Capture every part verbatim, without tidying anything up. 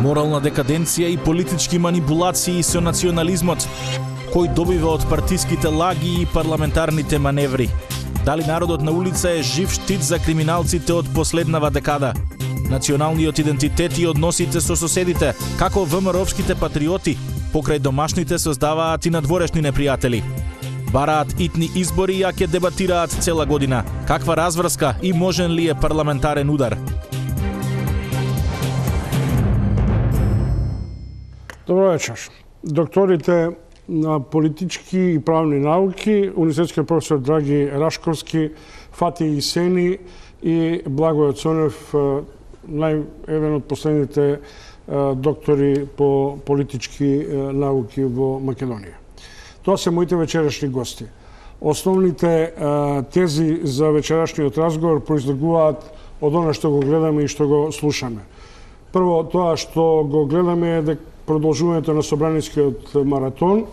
Морална декаденција и политички манипулации со национализмот, кој добива од партиските лаги и парламентарните маневри. Дали народот на улица е жив штит за криминалците од последнава декада? Националниот идентитет и односите со соседите, како ВМРО-вските патриоти, покрај домашните создаваат и надворешни непријатели. Бараат итни избори, ја ќе дебатираат цела година. Каква разврска и можен ли е парламентарен удар? Добро вечер. Докторите на политички и правни науки, универзитетскиот професор Драги Рашковски, Фати Исени и Благојот Цонев, нај еден од последните доктори по политички науки во Македонија. Тоа се моите вечерашни гости. Основните тези за вечерашниот разговор произлегуваат од она што го гледаме и што го слушаме. Прво, тоа што го гледаме е продолжувањето на собранискиот маратон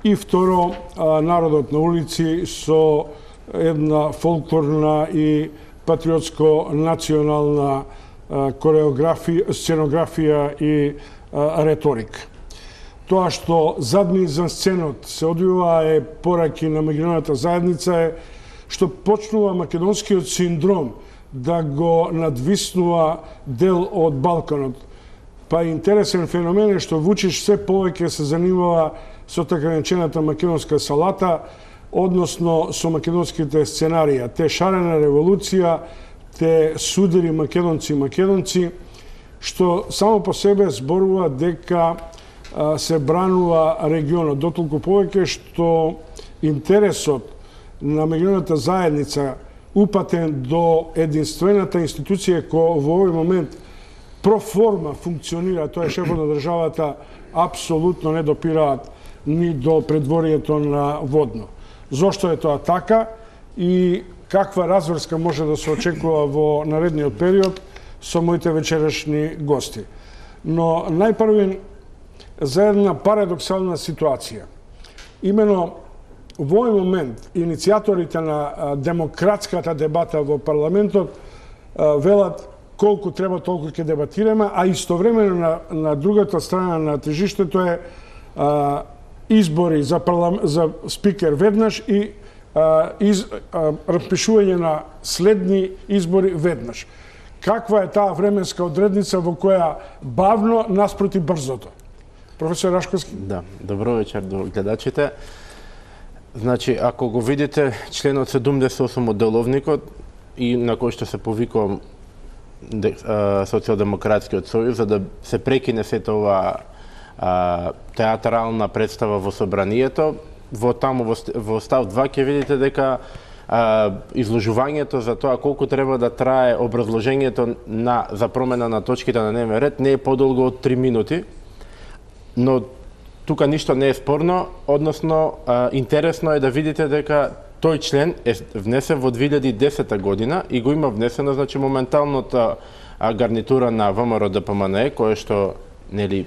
и второ, народот на улици со една фолклорна и патриотско-национална кореографија, сценографија и реторика. Тоа што задни за сценот се одвива е пораки на меѓународната заедница е што почнува македонскиот синдром да го надвиснува дел од Балканот. Па интересен феномен е што Вучич се повеќе се занимава со така наречената македонска салата, односно со македонските сценарија. Те шарена револуција, те судири македонци и македонци, што само по себе зборува дека се бранува регионот, дотолку повеќе што интересот на меѓународната заедница упатен до единствената институција која во овој момент проформа функционира, тоа е шефот на државата, апсолутно не допираат ни до предворието на Водно. Зошто е тоа така и каква разврска може да се очекува во наредниот период со моите вечерашни гости. Но најпрвен за една парадоксална ситуација. Имено во овој момент иницијаторите на демократската дебата во парламентот велат колку треба толку ќе дебатираме, а истовремено на, на другата страна на тежиштето е а, избори за, парлам... за спикер веднаш и а, из... а, распишување на следни избори веднаш. Каква е таа временска одредница во која бавно наспроти брзото? Професор Рашковски? Да, добро вечер до гледачите. Значи, ако го видите членот седумдесет и осум од деловникот и на кој што се повикува Социјалдемократскиот сојуз, за да се прекине сета ова а, театрална представа во собранието, во таму во, во став два ќе видите дека а, изложувањето за тоа колку треба да трае образложењето на за промена на точките на дневен ред не е подолго од три минути, но тука ништо не е спорно, односно а, интересно е да видите дека тој член е внесен во две илјади и десета година и го има внесено, значи, моменталната гарнитура на ВМРО Д П М Н Е, кое што, нели,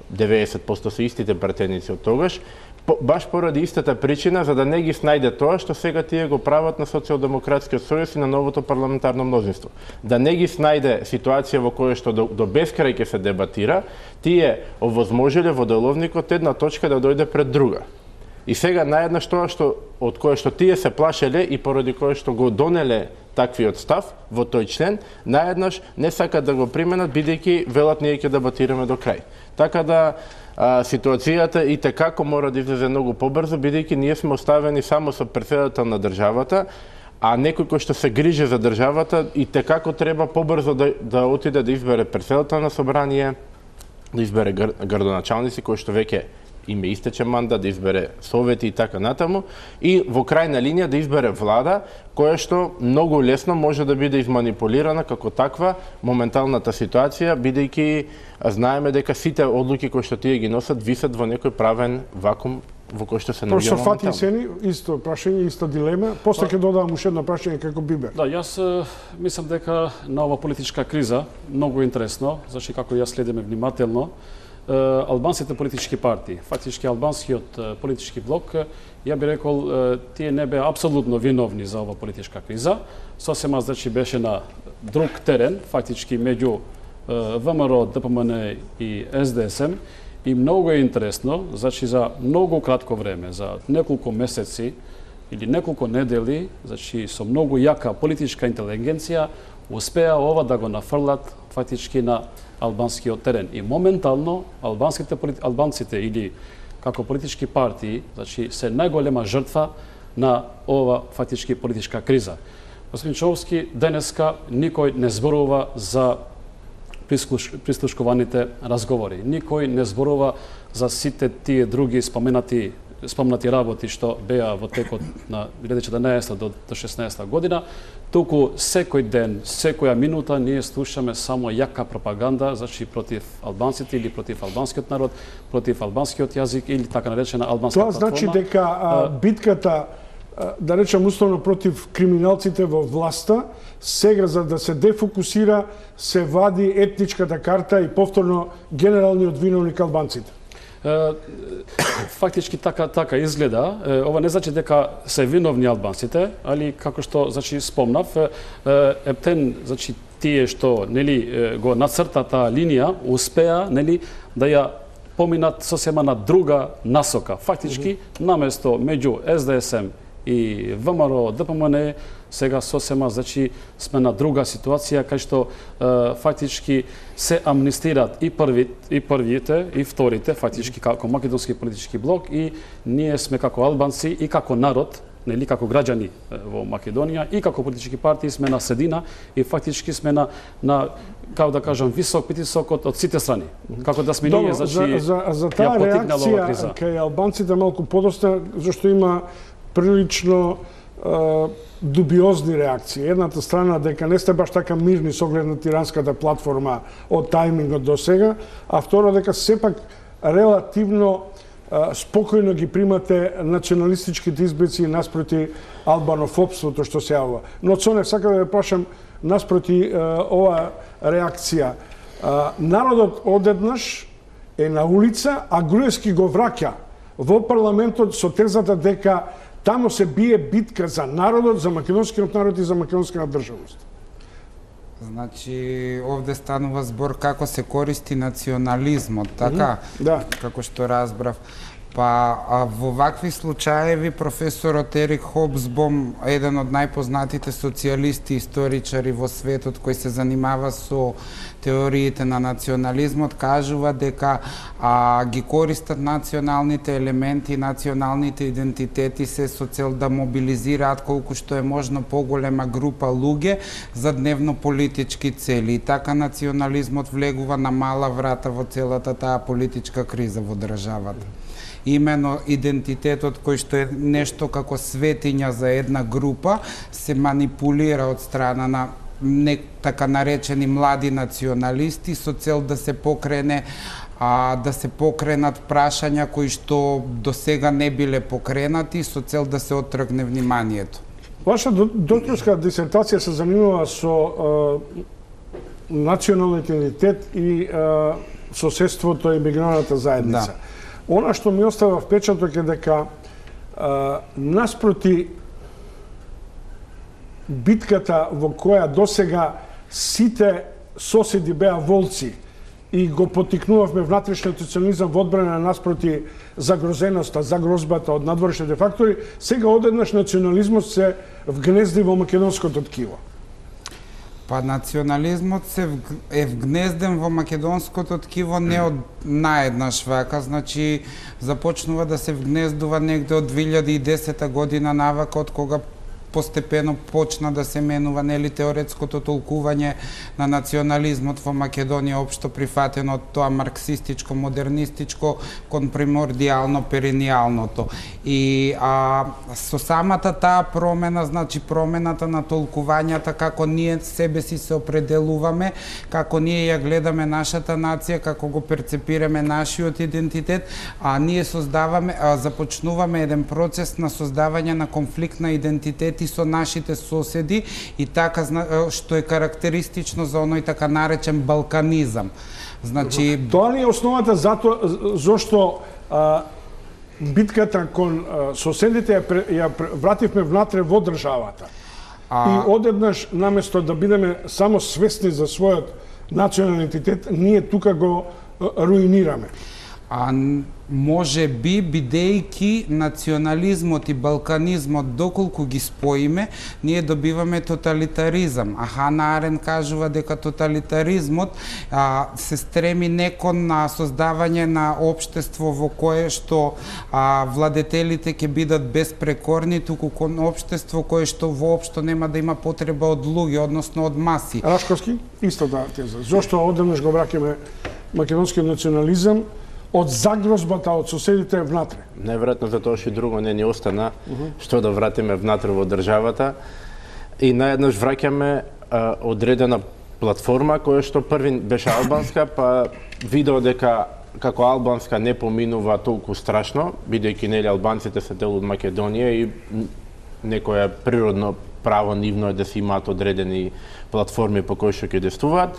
деветдесет проценти се истите пратеници од тогаш, по, баш поради истата причина, за да не ги снајде тоа што сега тие го прават на Социјалдемократскиот сојуз и на новото парламентарно мнозинство. Да не ги снајде ситуација во која што до, до бескрај ќе се дебатира, тие овозможиле во деловникот една точка да дојде пред друга. И сега наеднаш тоа што од кое што тие се плашеле и поради кое што го донеле таквиот став во тој член, наеднаш не сакат да го применат бидејќи велат ние ќе дебатираме до крај. Така да а, ситуацијата и текако мора да излезе многу побрзо, бидејќи ние сме оставени само со претседател на државата, а некој кој што се грижи за државата и текако треба побрзо да, да отиде да избере претседател на собрание, да избере гр, градоначалници кои што веќе име истече мандат, да избере совети и така натаму, и во крајна линија да избере влада, која што многу лесно може да биде изманипулирана како таква моменталната ситуација, бидејќи знаеме дека сите одлуки кои што тие ги носат висат во некој правен вакуум во кој што се наоѓа моментално. Професор Фати Исени, исто прашање, иста дилема. После ќе додавам уште едно прашање како Бибер. Да, јас мислам дека на ова политичка криза многу интересно, зашто како јас следиме внимателно, албанските политички партии, фактички албанскиот политички блок, ја би рекол, тие не беа апсолутно виновни за ова политичка криза. Сосема, значи, беше на друг терен, фактички меѓу ВМРО, ДПМН и СДСМ. И многу е интересно, значи за многу кратко време, за неколку месеци или неколку недели, значи со многу јака политичка интелигенција, успеа ова да го нафрлат фактички на албанскиот терен. И моментално албанските албанците или како политички партии, значи се најголема жртва на ова фактички политичка криза. Господин Човски, денеска никој не зборува за прислушкуваните разговори. Никој не зборува за сите тие други споменати спомнати работи што беа во текот на две илјади и четрнаесета до шеснаесета година, туку секој ден, секоја минута ние слушаме само јака пропаганда, значи против албанците или против албанскиот народ, против албанскиот јазик или така наречена албанска платформа. Тоа значи дека а, битката, а, да речем условно против криминалците во власта, сега за да се дефокусира, се вади етничката карта и повторно генералниот виновник албанците. Фактички така така изгледа. Ова не значи дека се виновни албанците, али како што значи спомнав, ептен значи тие што нели го нацрта таа линија успеа нели да ја поминат сосема на друга насока. Фактички mm -hmm. наместо меѓу СДСМ и ВМРО, ДПМН сега сосема значи сме на друга ситуација кај што е, фактички се амнистираат и први и првите и вторите фактички како македонски политички блок и ние сме како албанци и како народ, нели како граѓани во Македонија и како политички партии сме на средина и фактички сме на на како да кажам висок притисок од, од сите страни. Како да сме Добро, ние значи за, за, за таа реакција кај албанците малку подоста зашто има прилично е, дубиозни реакции. Едната страна дека не сте баш така мирни со оглед на тиранската платформа од тајмингот до сега, а второ дека сепак релативно е, спокојно ги примате националистичките избици наспроти албанофобството што се јавува. Но Цонев, сакам да ве прашам наспроти е, ова реакција. Е, народот одеднаш е на улица, а Груевски го враќа во парламентот со тезата дека таму се бие битка за народот, за македонскиот народ и за македонската државност. Значи, овде станува збор како се користи национализмот, така? Mm-hmm. Да. Како што разбрав. Па, а, во вакви случаеви, професорот Ерик Хобсбом, еден од најпознатите социјалисти и историчари во светот, кој се занимава со теориите на национализмот, кажува дека а, ги користат националните елементи, националните идентитети се со цел да мобилизираат колку што е можно поголема група луѓе за дневно политички цели. И така национализмот влегува на мала врата во целата таа политичка криза во државата. Имено идентитетот кој што е нешто како светиња за една група се манипулира од страна на не така наречени млади националисти со цел да се покрене а, да се покренат прашања кои што до сега не биле покренати со цел да се оттргне вниманието. Ваша докторска дисертација се занимава со е, националниот идентитет и е, соседството и миграната заедница. Да. Она што ми остава впечаток е дека а, наспроти битката во која досега сите соседи беа волци и го потикнувавме внатрешниот национализам во одбрана наспроти загрозеноста, загрозбата од надворешните фактори, сега одеднаш национализмот се вгнезди во македонското ткиво. Па национализмот се е вгнезден во македонското ткиво не од наеднаш вака, значи започнува да се вгнездува негде од две илјади и десета година навака, од кога постепено почна да се менува нели теоретското толкување на национализмот во Македонија, општо прифатено од тоа марксистичко, модернистичко кон примордијално перенијалното. И а, со самата таа промена, значи промената на толкувањата, како ние себе си се определуваме, како ние ја гледаме нашата нација, како го перцепираме нашиот идентитет, а ние создаваме, а, започнуваме еден процес на создавање на конфликт на идентитет и со нашите соседи и така што е карактеристично за оној така наречен балканизам. Значи тоа ли е основата зато зошто а, битката кон а, соседите ја, ја вративме внатре во државата. А... И одеднаш наместо да бидеме само свесни за својот национален идентитет, ние тука го руинираме. А може би, бидејќи национализмот и балканизмот доколку ги споиме, ние добиваме тоталитаризам. А Хана Арен кажува дека тоталитаризмот а, се стреми не кон на создавање на општество во кое што а, владетелите ќе бидат безпрекорни, туку кон општество кое што воопшто нема да има потреба од луѓе, односно од маси. Рашковски, исто да теза. Зошто одеднаш го враќаме македонскиот национализам од загрозбата од соседите внатре? Најверојатно затоа што и друго не ни остана, uh -huh. што да вратиме внатре во државата. И наеднаш враќаме а, одредена платформа која што први беше албанска, па видео дека како албанска не поминува толку страшно, бидејќи нели албанците се дел од Македонија и некоја природно право нивно е да се имаат одредени платформи по кои што ќе действуваат,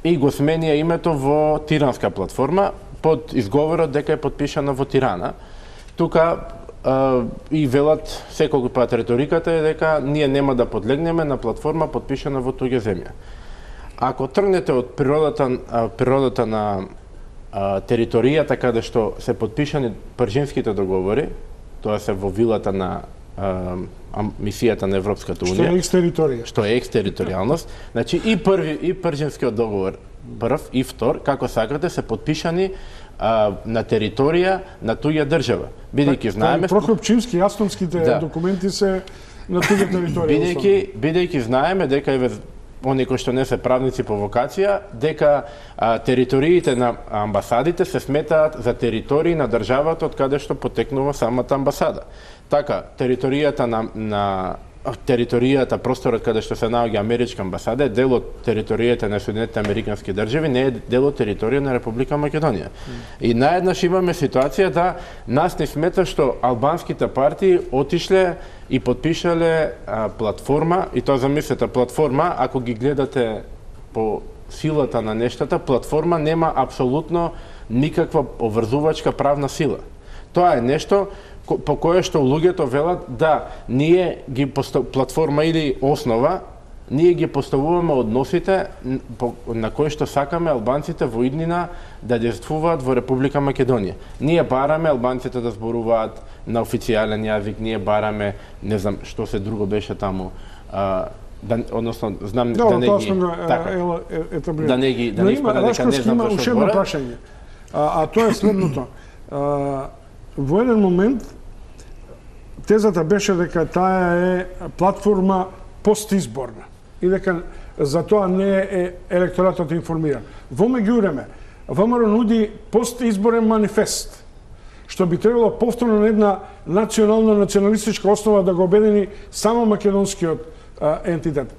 и го сменија името во тиранска платформа, под изговорот дека е подпишана во Тирана. Тука а, и велат секој пат реториката е дека ние нема да подлегнеме на платформа подпишана во туѓа земја. Ако тргнете од природата, а, природата на а, територијата каде што се подпишани пржинските договори, тоа се во вилата на а, мисијата на Европската унија. Што е екстериторија. Што е екстериторијалност. Значи и први и пржинскиот договор прв и втор, како сакате, се подпишани а, на територија на туѓа држава. Бидејќи знаеме Прокопчимски, Астонските да. документи се на туѓа територија. Бидејќи бидејќи знаеме дека еве оние кои што не се правници по вокација, дека а, териториите на амбасадите се сметаат за територии на државата од каде што потекнува самата амбасада. Така, територијата на, на територијата, просторот каде што се наоѓа америчка амбасада е дел од територијата на Соединетите американски држави, не е дел од територија на Република Македонија. Mm. И наеднаш имаме ситуација да нас не смета што албанските партии отишле и подпишале а, платформа, и тоа замислете платформа, ако ги гледате по силата на нештата, платформа нема апсолутно никаква обврзувачка правна сила. Тоа е нешто по кое што луѓето велат да ние ги постав... платформа или основа, ние ги поставуваме односите на кои што сакаме албанците во иднина да действуваат во Република Македонија. Ние бараме албанците да зборуваат на официјален јазик, ние бараме, не знам што се друго беше таму, а, да, односно знам Добро, да не тоа ги сме така, е, е, да не ги да не испада дека не знам зашто зашто збора. Прашање. А, а тоа е следното. А, во еден момент тезата беше дека таа е платформа постизборна и дека за тоа не е електоратот информиран. Во меѓувреме, ВМРО нуди постизборен манифест, што би требало повторно на една национална националистичка основа да го обедини само македонскиот а, ентитет.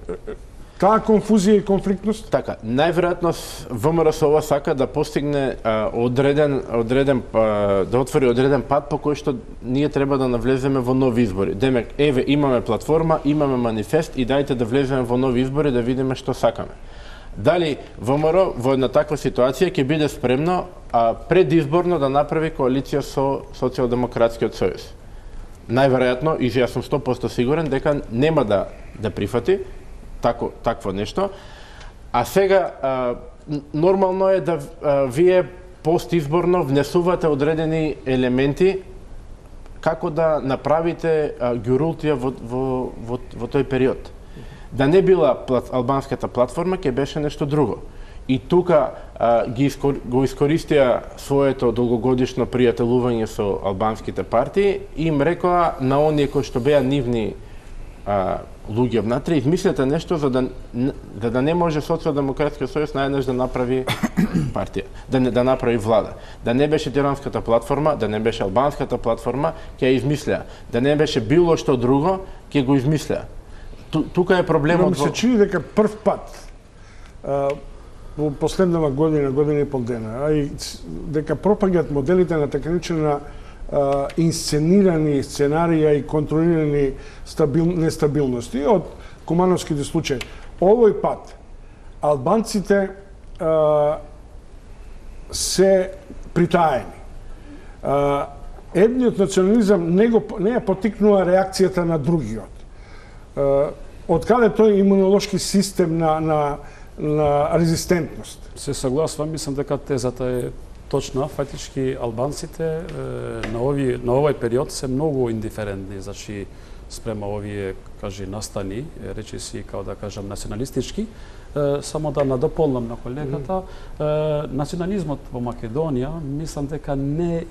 Таа конфузија и конфликтност? Така, најверојатно ВМРО со ова сака да постигне а, одреден одреден а, да отвори одреден пат по кој што ние треба да навлеземе во нови избори. Демек, еве имаме платформа, имаме манифест и дајте да влеземе во нови избори да видиме што сакаме. Дали ВМРО во една таква ситуација ќе биде спремно а, предизборно да направи коалиција со Социјалдемократскиот сојуз? Најверојатно, и јас сум сто проценти сигурен дека нема да да прифати тако такво нешто. А сега а, нормално е да а, вие постизборно внесувате одредени елементи како да направите а, ѓурултија во, во, во, во тој период. Да не била плат, албанската платформа, ќе беше нешто друго. И тука а, ги искор, го искористија своето долгогодишно пријателување со албанските партии и им рекоа на оние кои што беа нивни а, луѓе внатре, измислете нешто за да, за да не може Социјалдемократскиот сојуз наеднаш да направи партија, да не да направи влада. Да не беше тиранската платформа, да не беше албанската платформа, ќе ја измислеа. Да не беше било што друго, ќе го измислеа. Ту, тука е проблемот. Но ми се чини дека прв пат а, во последнава година, година и пол дена, а и дека пропаѓаат моделите на така наречена Uh, инсценирани сценарија и контролирани стабил, нестабилности од кумановските случаи. Овој пат албанците uh, се притаени. Uh, едниот национализам не, го, не ја потикнува реакцијата на другиот. Uh, од каде тој имунолошки систем на, на на резистентност. Се согласувам, мислам дека тезата е точна. Фактички албанците е, на овој на овој период се многу индиферентни, значи спрема овие, кажи, настани, речиси, као да кажам, националистички. Е, само да надополнам на колегата, е, национализмот во Македонија, мислам дека не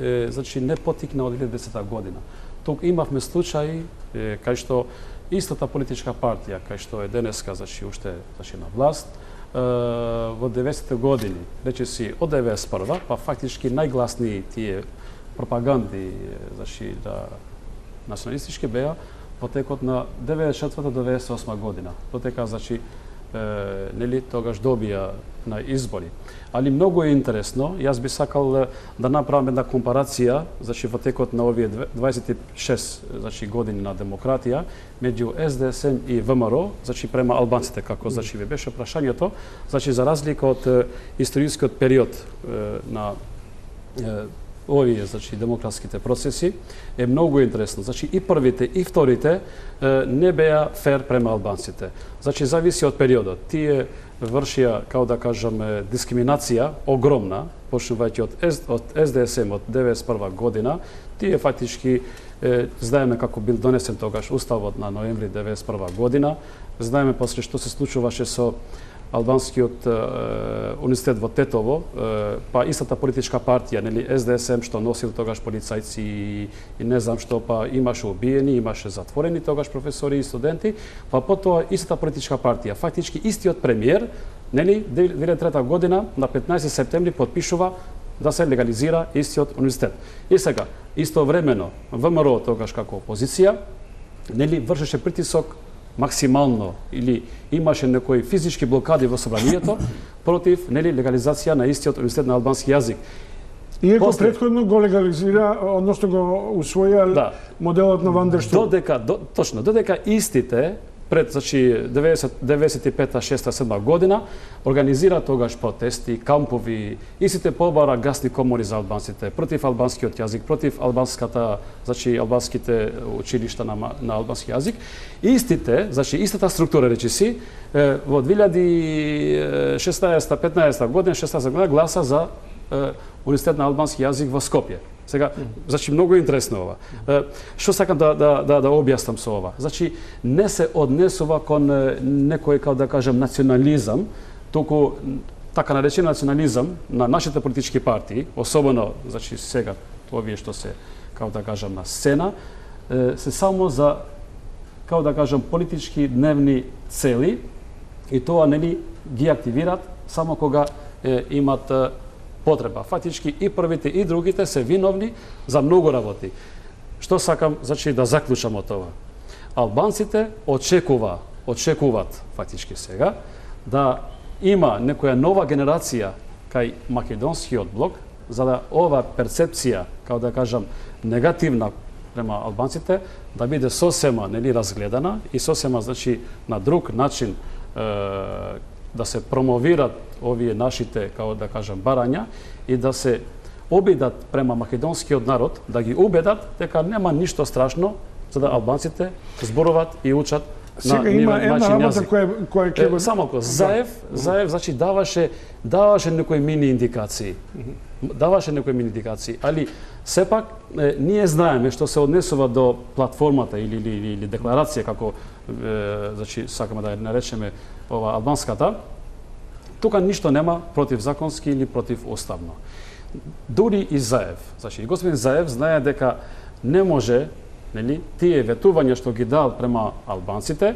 е, значи не потикна од две илјади и десета година. Тук имавме случаи е, кај што истата политичка партија, кај што е денеска, значи уште значи на власт, е, во деветдесетте години, речиси од деветдесет и прва, па фактички најгласни тие пропаганди, значи да националистички беа во текот на деветдесет и четврта до деветдесет и осма година. Додека, значи, е, нели, тогаш добија на избори. Али многу е интересно, јас би сакал да направам една компарација, значи во текот на овие дваесет и шест значи години на демократија меѓу С Д С М и В М Р, значи према албанците, како значи ви беше прашањето, значи за разлика од е, историскиот период е, на е, овие, значи, демократските процеси, е многу интересно. Значи, и првите, и вторите е, не беа фер према албанците. Значи, зависи од периодот. Тие вршија, као да кажаме, дискриминација огромна, почнувајќи од, од С Д С М од деветдесет и прва година, тие фактички е, знаеме како бил донесен тогаш уставот на ноември деветдесет и прва година, знаеме после што се случуваше со албанскиот е, универзитет во Тетово, е, па истата политичка партија, нели С Д С М што носил тогаш полицајци и, и не знам што, па имаше убиени, имаше затворени тогаш професори и студенти, па потоа истата политичка партија, фактички истиот премиер, нели две илјади и трета година на петнаесети септември потпишува да се легализира истиот универзитет. И сега, истовремено В М Р тогаш како опозиција, нели вршеше притисок максимално или имаше некои физички блокади во собранието против нели легализација на истиот универзитет на албански јазик. Иако После... предходно го легализира, односно го усвоја да. Моделот на Ван дер Стул. Додека до, точно, додека истите пред значи деветдесет и пета, шеста, седма година организира тогаш протести, кампови, истите побара гасни комори за албанците, против албанскиот јазик, против албанската, значи албанските училишта на, на албански јазик. Истите, значи истата структура речиси, во две илјади и шеснаесета, петнаесета година, шеснаесета година гласа за универзитет на албански јазик во Скопје. Сега, значи многу интересно ова. Што сакам да да да да објаснам со ова? Значи не се однесува кон некој, како да кажем, национализам, туку така наречен национализам на нашите политички партии, особено значи сега овие што се, како да кажам, на сцена, се само за, како да кажам, политички дневни цели и тоа нели ги активират само кога е, имат потреба. Фактички и првите и другите се виновни за многу работи. Што сакам, значи, да заклучам од това? Албанците очекува, очекуваат фактички сега да има некоја нова генерација кај македонскиот блок, за да ова перцепција, како да кажам, негативна према албанците, да биде сосема нели разгледана и сосема, значи, на друг начин е, да се промовират овие нашите, како да кажам, барања и да се обидат према македонскиот народ, да ги убедат дека нема ништо страшно за да албанците зборуваат и учат Сега на има една начин работа јазик. која која ќе Е, само ко Заев, Заев значи даваше даваше некои мини индикации. Даваше некои мини индикации, али сепак е, ние знаеме што се однесува до платформата или или, или декларација како е, значи сакаме да ја наречеме ова албанската. Тука ништо нема против законски или против уставно. Дури и Заев, значи и господин Заев знае дека не може, нели, тие ветувања што ги дал према албанците,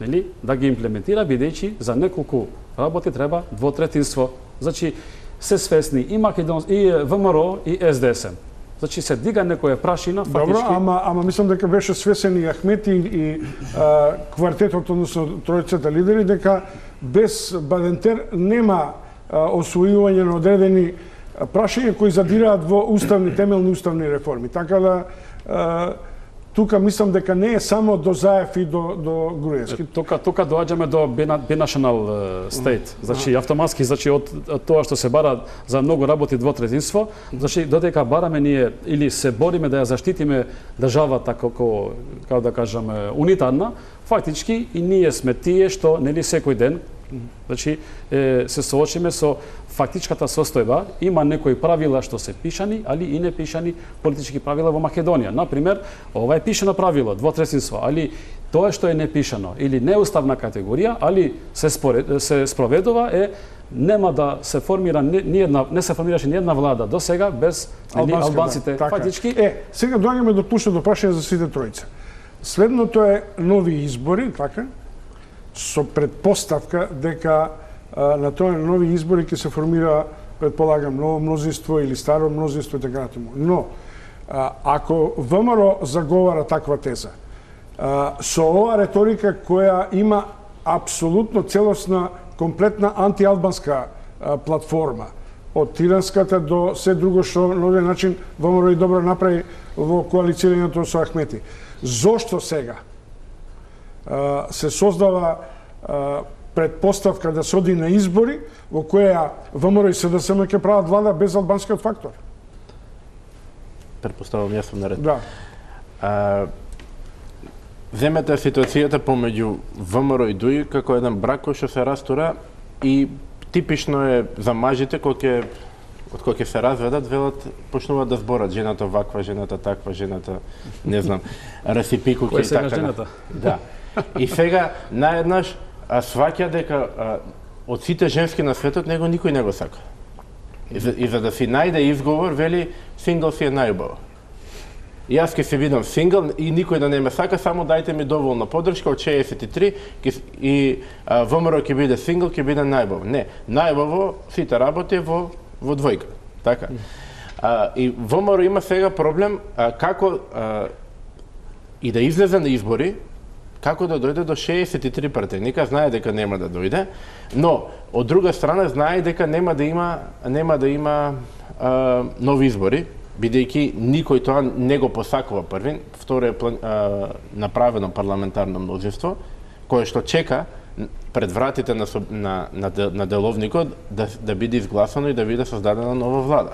нели, да ги имплементира, бидејќи за неколку работи треба двотретинство. Значи се свесни и Македон, и В М Р и С Д С М. Значи се дига некоја прашина, фактички. Добро, ама ама мислам дека беше свесен и Ахмети и а, квартетот, односно тројцата лидери, дека без Бадентер нема а, освојување на одредени прашања кои задираат во уставни, темелни уставни реформи. Така да а, тука мислам дека не е само до Заев и до до Груевски. Тука тука доаѓаме до binational state. Значи автоматски, значи од тоа што се бара за многу работи двотретинство, значи додека бараме ние или се бориме да ја заштитиме државата како како да кажам унитарна, фактички и ние сме тие што нели секој ден Значи, е, се соочиме со фактичката состојба, има некои правила што се пишани, али и не пишани политички правила во Македонија. Например, ова е пишано правило, двотресинство, али тоа што е непишано или неуставна категорија, али се, според, се спроведува е нема да се формира ни една, не се формираше ни една влада до сега без Албанска, албанците. Да, така. Фактички Е, сега доаѓаме до клучното прашање за сите тројца. Следното е нови избори, така? Со предпоставка дека а, на тоа нови избори ќе се формира, предполагам, ново мнозинство или старо мнозинство и така натаму. Но а, ако ВМРО заговара таква теза, а, со ова реторика која има апсолутно целосна, комплетна антиалбанска а, платформа, од тиранската до се друго што на овој начин ВМРО и добро направи во коалицирањето со Ахмети. Зошто сега а, се создава а, предпоставка да се оди на избори во која ВМРО и СДСМ ќе прават влада без албанскиот фактор? Предпоставам јас сум наред. Да. А, земете ситуацијата помеѓу ВМРО и ДУИ како еден брак кој што се растура и типично е за мажите кои ќе од кои ќе се разведат, велат, почнуваат да зборат жената ваква, жената таква, жената, не знам, расипи куки и така. Жената? Да. И сега наеднаш а, сваќа дека а, од сите женски на светот него никој не го сака. И за, и за да си најде изговор, вели, сингл си е најубаво. И јас ќе се видам сингл и никој да не ме сака, само дајте ми доволна подршка од шеесет и три и а, ВМРО ќе биде сингл, ќе биде најубаво. Не, најубаво сите работи во во двојка, така. А, и ВМРО има сега проблем а, како а, и да излезе на избори, како да дојде до шеесет и три партијника, знае дека нема да дојде, но од друга страна знае дека нема да има нема да има а, нови избори, бидејќи никој тоа не го посакува првин, второ е план, а, направено парламентарно мнозинство, кое што чека пред вратите на, на, на, на деловникот да, да биде изгласано и да биде создадена нова влада.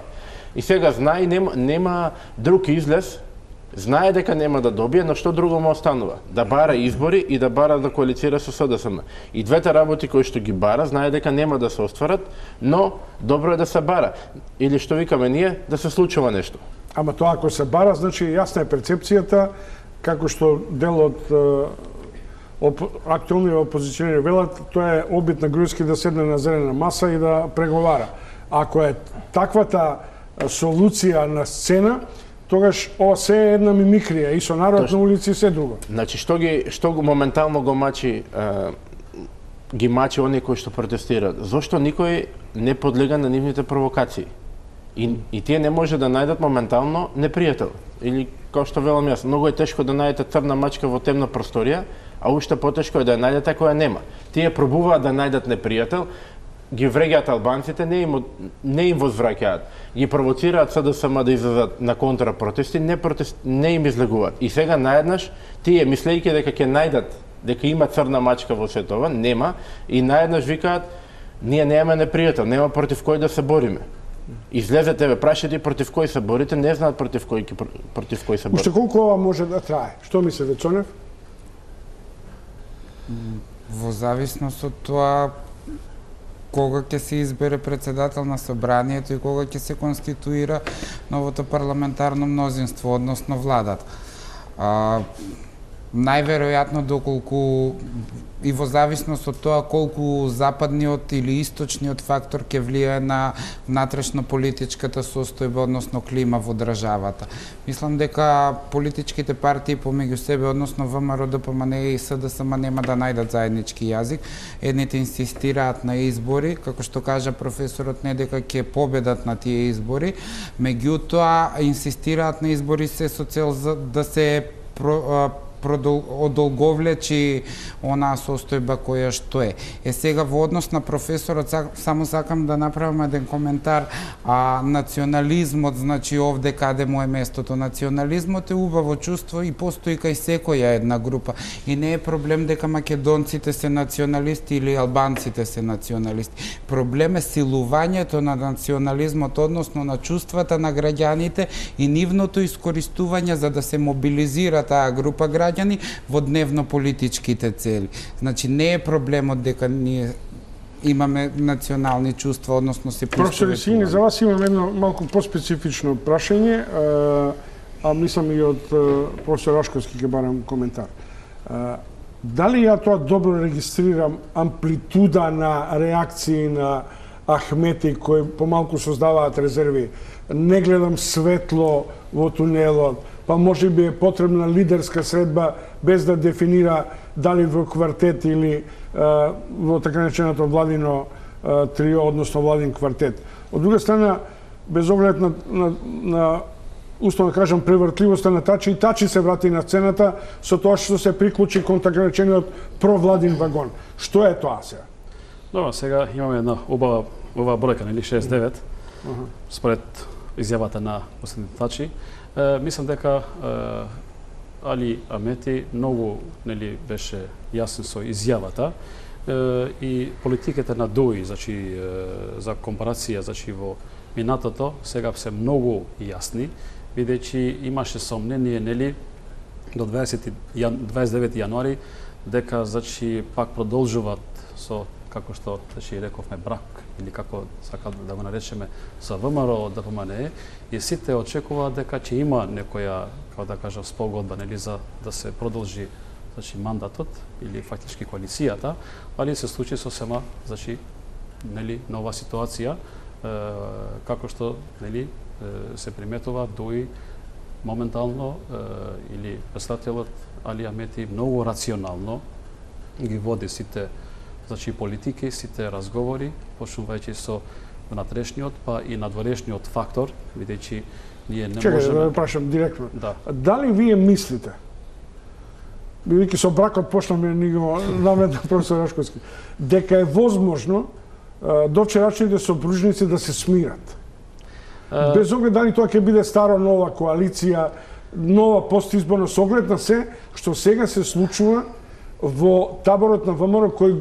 И сега знае, нема, нема друг излез, знае дека нема да добие, но што друго му останува? Да бара избори и да бара да коалицира со СДСМ. И двете работи кои што ги бара, знае дека нема да се остварат, но добро е да се бара. Или што викаме ние, да се случува нешто. Ама тоа ако се бара, значи јасна е перцепцијата, како што дел од Оп, актуелни опозиционери велат, тоа е обид на Груевски да седне на зелена маса и да преговара. Ако е таквата солуција на сцена, тогаш ова се е една мимикрија и со народ на улици и се друго. Значи што ги што го моментално го мачи е, ги мачи оние кои што протестираат? Зошто никој не подлега на нивните провокации? И, и тие не може да најдат моментално непријател. Или како што велам јас, многу е тешко да најдете црна мачка во темна просторија, а уште потешко е да ја најдете која нема. Тие пробуваат да најдат непријател, ги вреѓаат албанците, не им, не им возвраќаат. Ги провоцираат СДСМ да излезат на контрапротести, не, протест, не им излегуваат. И сега наеднаш, тие мислејќи дека ќе најдат, дека има црна мачка во сето ова, нема, и наеднаш викаат, ние немаме непријател, нема против кој да се бориме. Излезете ве, прашите против кој се борите, не знаат против кој, против кој се борите. Уште колку ова може да трае? Што мислите, Цонев? Во зависност од тоа кога ќе се избере председател на собранието и кога ќе се конституира новото парламентарно мнозинство, односно владата. А, најверојатно доколку и во зависност од тоа колку западниот или источниот фактор ќе влијае на внатрешно политичката состојба, односно клима во државата. Мислам дека политичките партии помеѓу себе, односно ВМРО, ДПМН и СДСМ нема да најдат заеднички јазик. Едните инсистираат на избори, како што кажа професорот, не дека ќе победат на тие избори, меѓутоа инсистираат на избори се со цел за да се про, одолговлечи онаа состојба која што е. Е сега во однос на професорот само сакам да направам еден коментар, а национализмот, значи овде каде му е местото. Национализмот е убаво чувство и постои кај секоја една група и не е проблем дека македонците се националисти или албанците се националисти. Проблем е силувањето на национализмот, односно на чувствата на граѓаните и нивното искористување за да се мобилизира таа група граѓани во дневно политичките цели. Значи не е проблемот дека ние имаме национални чувства, односно се Професор Сини, за вас имам едно малку поспецифично прашање, а, а мислам и од професор Рашковски ќе барам коментар. А, дали ја тоа добро регистрирам амплитуда на реакции на Ахмети кои помалку создаваат резерви? Не гледам светло во тунелот, па може би е потребна лидерска средба без да дефинира дали во квартет или а, во така нареченото владино а, трио, односно владин квартет. Од друга страна, без оглед на, на, на условно да кажам, превртливоста на Тачи, и Тачи се врати на сцената со тоа што се приклучи кон така наречениот провладин вагон. Што е тоа сега? Добро, сега имаме една убава, убава бројка, нели шест девет, uh -huh. според изјавата на господин Тачи. Е, мислам дека е, Али Амети многу нели беше јасен со изјавата е, и политиката на ДОИ, значи е, за компарација, значи во минатото сега се многу јасни, бидејќи имаше сомнение нели до дваесет дваесет и девети јануари дека значи пак продолжуваат со, како што значи рековме, брак или како сака да го наречеме со ВМРО ДПМНЕ, и сите очекуваат дека ќе има некоја, како да кажам, спогодба нели за да се продолжи значи мандатот или фактички коалицијата, али се случи сосема значи нели нова ситуација, е, како што нели се приметува ДОИ моментално е, или представителот Али Амети многу рационално ги води сите значи политики, сите разговори, почнувајќи со внатрешниот па и надворешниот фактор, бидејќи ние не Чекай, можеме... да ве прашам директно. Да. Дали вие мислите, бидејќи со бракот почнаме ни го наметна професор Рашковски, дека е возможно довчерашните сопружници да се смират? Uh... Без оглед дали тоа ќе биде стара нова коалиција, нова постизборна, со оглед на се што сега се случува во таборот на ВМРО, кој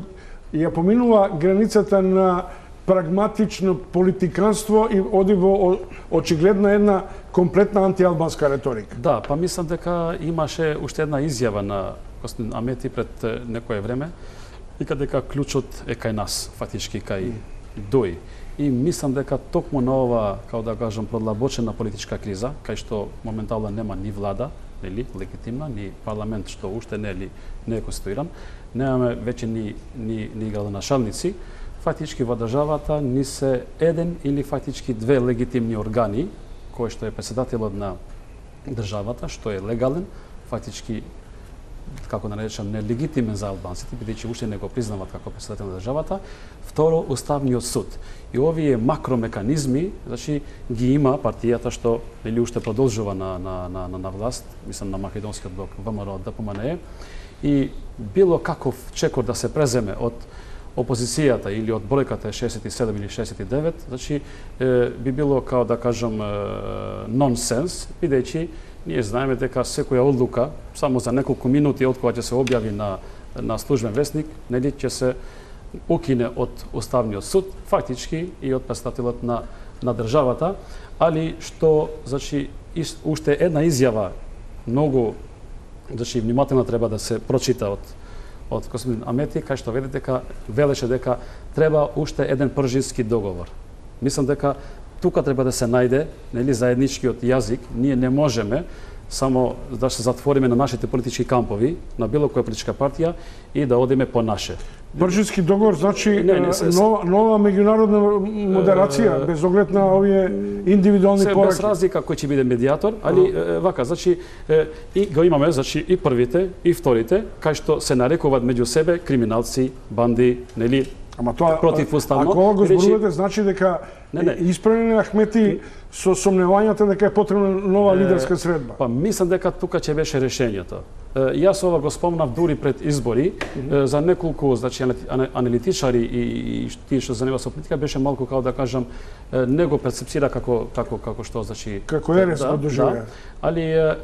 ја поминува границата на прагматично политиканство и оди во очигледна една комплетна антиалбанска реторика. Да, па мислам дека имаше уште една изјава на господин Амети пред некое време, и дека клучот е кај нас, фактички кај ДОИ. И мислам дека токму на ова, како да кажам, продлабочена политичка криза, кај што моментално нема ни влада, нели, легитимна, ни парламент што уште не е не е конституиран, немаме веќе ни ни ни градоначалници, фактички во државата ни се еден или фактички две легитимни органи, кој што е претседателот на државата, што е легален, фактички како да наречам нелегитимен за албанците, бидејќи уште не го признаваат како претседател на државата. Второ, Уставниот суд. И овие макромеканизми, значи ги има партијата што или уште продолжува на на на на власт, мислам на македонскиот блок ВМРО ДПМНЕ, и било каков чекор да се преземе од опозицијата или од бројката шеесет и седум или шеесет и девет, значи е, би било као да кажам нонсенс, бидејќи ние знаеме дека секоја одлука само за неколку минути од кога ќе се објави на на службен весник, нели ќе се укине од Уставниот суд, фактички и од претседателот на на државата, али што значи уште една изјава многу значи внимателно треба да се прочита од од господин Амети, кај што веде дека велеше дека треба уште еден пржински договор. Мислам дека тука треба да се најде нели заедничкиот јазик. Ние не можеме само да се затвориме на нашите политички кампови, на било која политичка партија и да одиме по наше. Бржински договор значи не, не, се, нова, нова меѓународна модерација, без оглед на овие индивидуални се, пораки. Без разлика кој ќе биде медијатор, али е, вака, значи е, и го имаме, значи и првите и вторите, кај што се нарекуваат меѓу себе криминалци, банди, нели, Ама тоа противуставно. Ако го зборувате, значи дека не, не. исправени Ахмети со сомневањата дека е потребна нова лидерска средба. Па мислам дека тука ќе беше решењето. Јас ова го спомнав дури пред избори, mm -hmm. за неколку значи аналитичари и, и тие што занимава со политика беше малку како да кажам не го перцепсира како како како што значи како ерес го доживеа. Да, али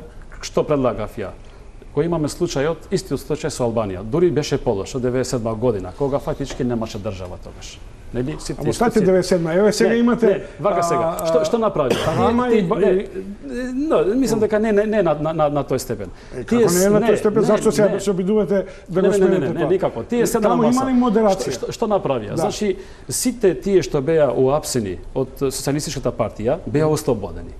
што предлагав ја? Кој имаме случајот, истиот случај со Албанија. Дури беше полош од деветдесет и седма година, кога фактички немаше држава тогаш. Нели? Сите Ама стате деветдесет и седма, еве сега не, имате... Не, вака сега, што, што направи? Рама и... Не, но, мислам дека не, не, не на, на, на тој степен. Е, како не е на тој степен, зашто сега се обидувате да го смените тоа? Не, не, не, никако. Тие се на Таму има ли модерација? Што, што направија? Значи, сите тие што беа уапсени од Социјалистичката партија, беа ослободени.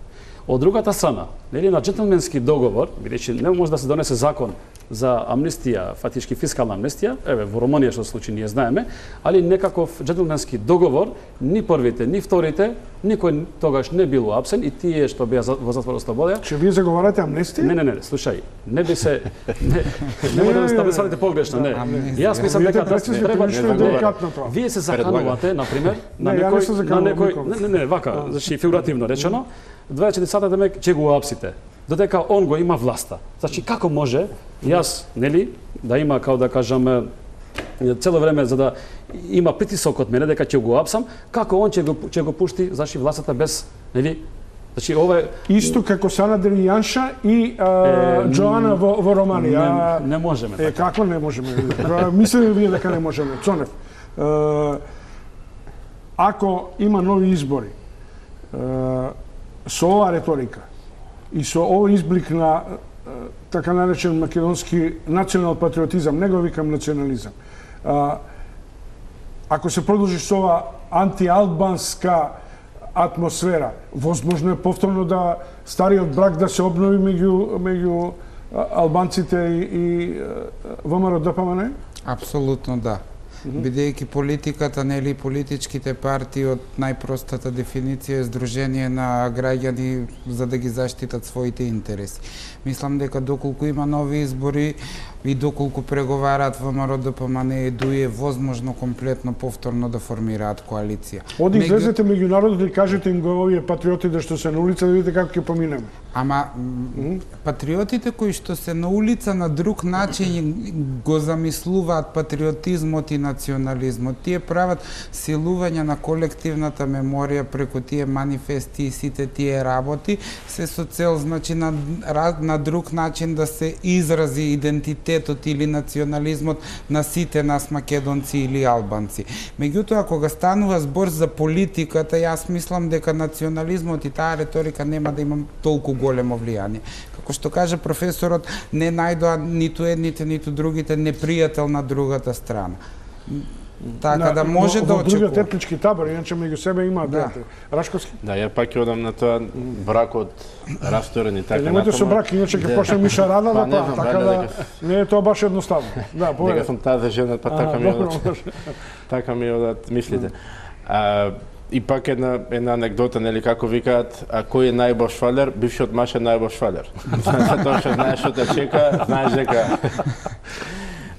Од другата страна, нели на джентлменски договор, бидејќи не може да се донесе закон за амнестија, фактички фискална амнестија, еве во Румунија што се случи ние знаеме, али некаков джентлменски договор, ни првите, ни вторите, никој тогаш не бил уапсен и тие што беа во затвор ослободени. Че вие заговарате амнестија? Не, не, не, слушај, не би се не не може да ме сватите погрешно, не. Јас мислам дека треба деликатно. Вие се заканувате, на пример, на некој на некој не, не, не, вака, значи фигуративно речено, дваесет и четири сата демек ќе го уапсите. Додека он го има власта. Значи како може јас, нели, да има како да кажам цело време за да има притисок од мене дека ќе го уапсам, како он ќе го ќе го пушти значи властата без, нели? Значи ова е исто како Санадер и Јанша и а, е, Джоана во, во Романија. Не, не можеме така. Е како не можеме? Мислите вие дека не можеме? Цонев. Е, ако има нови избори, е, со оваа реторика и со овој изблик на така наречен македонски национал патриотизам, не го викам национализам. Ако се продолжи со оваа антиалбанска атмосфера, возможно е повторно да стариот брак да се обнови меѓу меѓу албанците и, и ВМРО Д П М Н? Апсолутно да. Бидејќи политиката, нели политичките партии од најпростата дефиниција е здружение на граѓани за да ги заштитат своите интереси. Мислам дека доколку има нови избори и доколку преговараат ВМРО Д П М Н и ДУИ е возможно комплетно повторно да формираат коалиција. Оди Меѓу... излезете меѓу народот и кажете им го овие патриотите што се на улица да видите како ќе поминеме. Ама mm-hmm. патриотите кои што се на улица на друг начин го замислуваат патриотизмот и национализмот. Тие прават силување на колективната меморија преку тие манифести и сите тие работи се со цел значи на, на друг начин да се изрази идентитетот или национализмот на сите нас македонци или албанци. Меѓутоа кога станува збор за политиката, јас мислам дека национализмот и таа реторика нема да има толку големо влијание. Како што каже професорот, не најдоа ниту едните, ниту другите непријател на другата страна. Така да може да очекува. Во другиот етнички табор, иначе меѓу себе има да. Рашковски. Да, ја пак ќе одам на тоа бракот расторен и така натаму. Немојте со брак, иначе ќе почне Миша Рада да па, така да не е тоа баш едноставно. Да, повеќе. Дека сум тази жена, па така ми одат. Така ми одат мислите. А и пак една една анекдота, нели како викаат, а кој е најбош фалер? Бившиот маж е најбош фалер. Затоа што знаеш што те чека, знаеш дека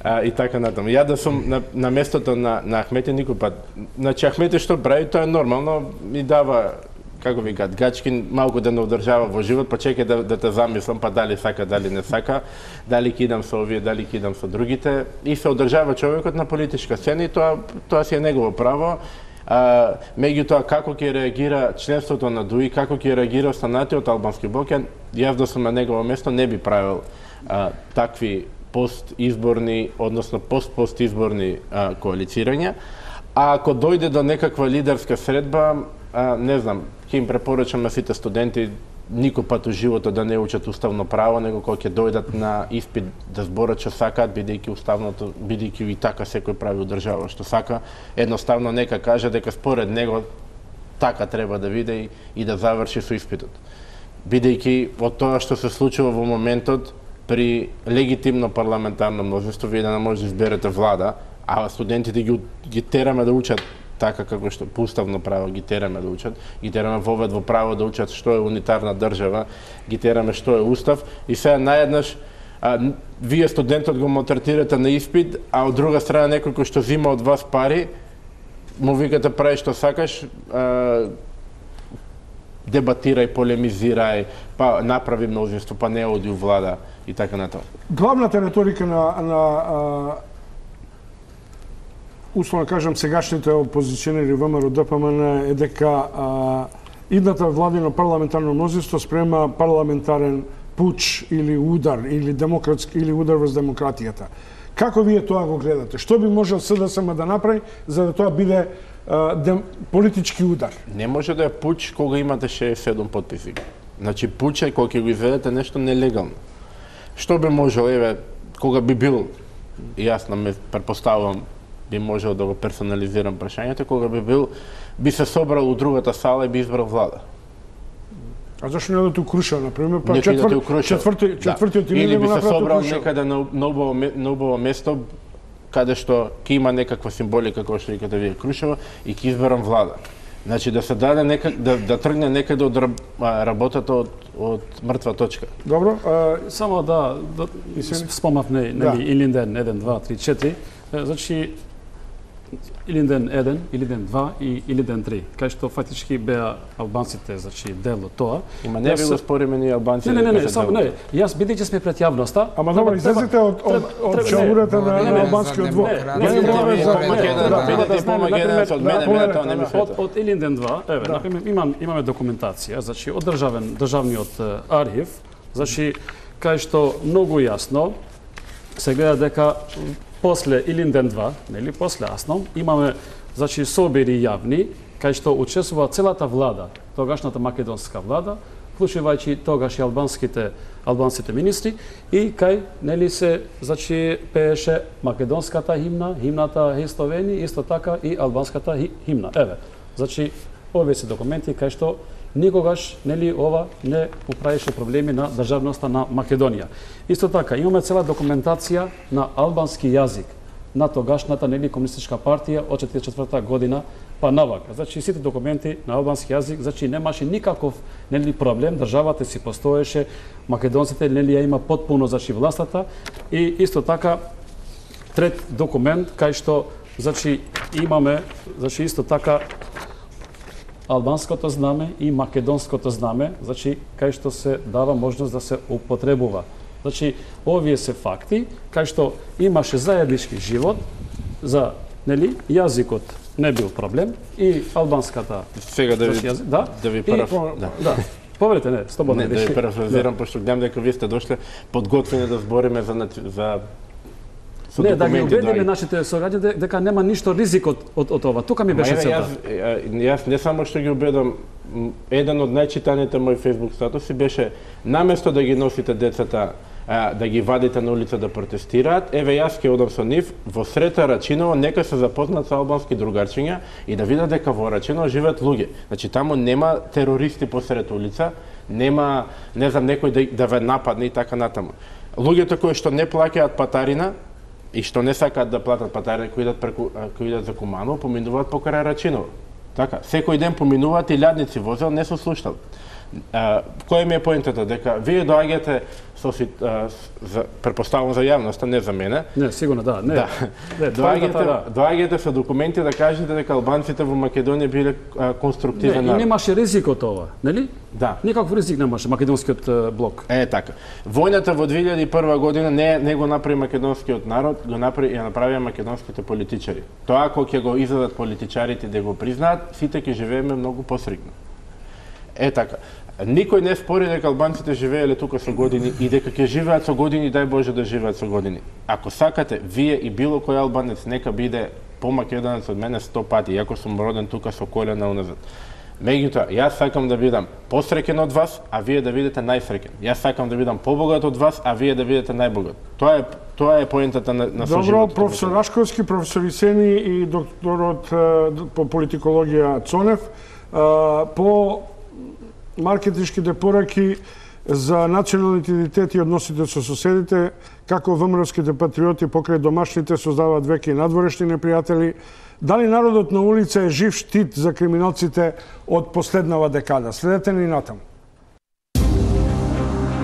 А, и така натаму. Ја да сум на, на местото на, на Ахмети никој пат. Значи Ахмети што прави, тоа е нормално, ми дава, како викаат, гачки малку да не одржава во живот, па чекај да, да те замислам, па дали сака, дали не сака, дали кидам со овие, дали кидам со другите, и се одржава човекот на политичка сцена и тоа, тоа си е негово право. А, меѓутоа, како ќе реагира членството на ДУИ, како ќе реагира останатиот албански блок, јас да сум на негово место не би правил а, такви постизборни, односно пост-постизборни а, коалицирања. А ако дојде до некаква лидерска средба, а, не знам, ќе им препорачам на сите студенти никој пат у животот да не учат уставно право, него кога ќе дојдат на испит да зборат што сакаат, бидејќи уставното, бидејќи и така секој прави у држава што сака, едноставно нека каже дека според него така треба да биде и, и да заврши со испитот. Бидејќи од тоа што се случува во моментот, при легитимно парламентарно мнозинство вие да не може да изберете влада, а студентите ги, ги тераме да учат така како што по уставно право ги тераме да учат, ги тераме вовед во право да учат што е унитарна држава, ги тераме што е устав и сега наеднаш а, вие студентот го малтретирате на испит, а од друга страна некој кој што зима од вас пари, му викате прави што сакаш, а, дебатирај, полемизирај, па направи мнозинство, па не оди у влада и така натаму. Главната реторика на, на а, условно кажам сегашните опозиционери ВМРО Д П М Н е дека а, идната владино парламентарно мнозинство спрема парламентарен пуч или удар или демократски или удар врз демократијата. Како вие тоа го гледате? Што би можел С Д С М да направи за да тоа биде дем, политички удар. Не може да е пуч кога имате шеесет и седум потписи. Значи пуч е кога ќе го изведете нешто нелегално. Што би можел, еве, кога би бил, јас на ме претпоставувам, би можел да го персонализирам прашањето, кога би бил, би се собрал у другата сала и би избрал влада. А зашто не одат у Крушево, например, па Некој да четвр... четврти, четвртиот да. Или би се собрал Крушево. некаде на, на, убаво, на убаво место, каде што ќе има некаква символика, која што викате вие Крушево, и ќе изберам влада. Значи да се даде некак, да, да тргне некаде од работата од, од мртва точка. Добро. А... Само да, да спомнавме, нели, да. Илинден еден, два, три, четири. Значи, Илинден еден, Илинден два и Илинден три, кај што фактички беа албанците, значи дел од тоа. Има не би го спориме ни албанците. Не, не, не, само не. Јас бидејќи сме пред јавноста. Ама добро, излезете од од од чаурата на албанскиот двор. Не, не, не, од Илинден два, еве, например, имам имаме документација, значи од државен државниот архив, значи кај што многу јасно се гледа дека после Илинден два, нели, после Асном, имаме, значи, собери јавни, кај што учествува целата влада, тогашната македонска влада, вклучувајќи тогаш и албанските албанските министри, и кај, нели, се, значи, пееше македонската химна, химната Христовени, исто така и албанската химна. Еве, значи, овие се документи кај што никогаш, нели, ова не управише проблеми на државноста на Македонија. Исто така, имаме цела документација на албански јазик на тогашната, нели, комунистичка партија од четиридесет и четврта година па навака. Значи, сите документи на албански јазик, значи, немаше никаков, нели, проблем, државата си постоеше, македонците, нели, ја има потпуно, значи, властата, и исто така, трет документ, кај што, значи, имаме, значи, исто така, албанското знаме и македонското знаме, значи, кај што се дава можност да се употребува. Значи, овие се факти, кај што имаше заеднички живот, за, нели, јазикот не бил проблем, и албанската... Сега да ви, јазик, да, да ви параф... И, да. да. Повелете, не, слободно. Не, да ви парафразирам, да. Пошто гледам дека вие сте дошле подготвени да збориме за, за Не, да ги убедиме нашите сораѓања дека нема ништо ризик од, од, од ова. Тука ми беше целта. Јас, јас не само што ги убедам, еден од најчитаните мои Facebook статуси беше наместо да ги носите децата, а, да ги вадите на улица да протестираат, еве јас ќе одам со нив во Срета Рачиново, нека се запознат со албански другарчиња и да видат дека во Рачиново живеат луѓе. Значи таму нема терористи посред улица, нема, не знам, некој да, да ве нападне и така натаму. Луѓето кои што не плаќаат патарина и што не сакаат да платат патарина, кои идат преку кои идат за Куманово, поминуваат покрај Рачиново. Така, секој ден поминуваат и лјадници возел, не се слушнал. А, кој ми е поентата? Дека вие доаѓате со а, за претпоставувам за јавноста, не за мене. Не, сигурно да, не. Да. Не, доаѓате, да. доаѓате со документи да кажете дека албанците во Македонија биле а, конструктивен народ. Не, и немаше ризик од ова, нели? Да. Никаков ризик немаше македонскиот блок. Е така. Војната во две илјади и прва година не не го направи македонскиот народ, го направи ја направија македонските политичари. Тоа кога ќе го изедат политичарите да го признаат, сите ќе живееме многу посрекно. Е така. Никој не спори дека албанците живееле тука со години и дека ќе живеат со години, дај Боже да живеат со години. Ако сакате, вие и било кој албанец нека биде помакедонец од мене сто пати, иако сум роден тука со колена уназад. Меѓутоа, јас сакам да бидам посреќен од вас, а вие да бидете најсреќен. Јас сакам да бидам побогат од вас, а вие да бидете најбогат. Тоа е тоа е поентата на на Добро, професор Рашковски, професор Исени и докторот по политикологија Цонев, по маркетичките пораки за националните идентитети и односите со соседите, како ВМРО-ските патриоти покрај домашните создаваат веќе и надворешни непријатели. Дали народот на улица е жив штит за криминалците од последнава декада? Следете ни натаму.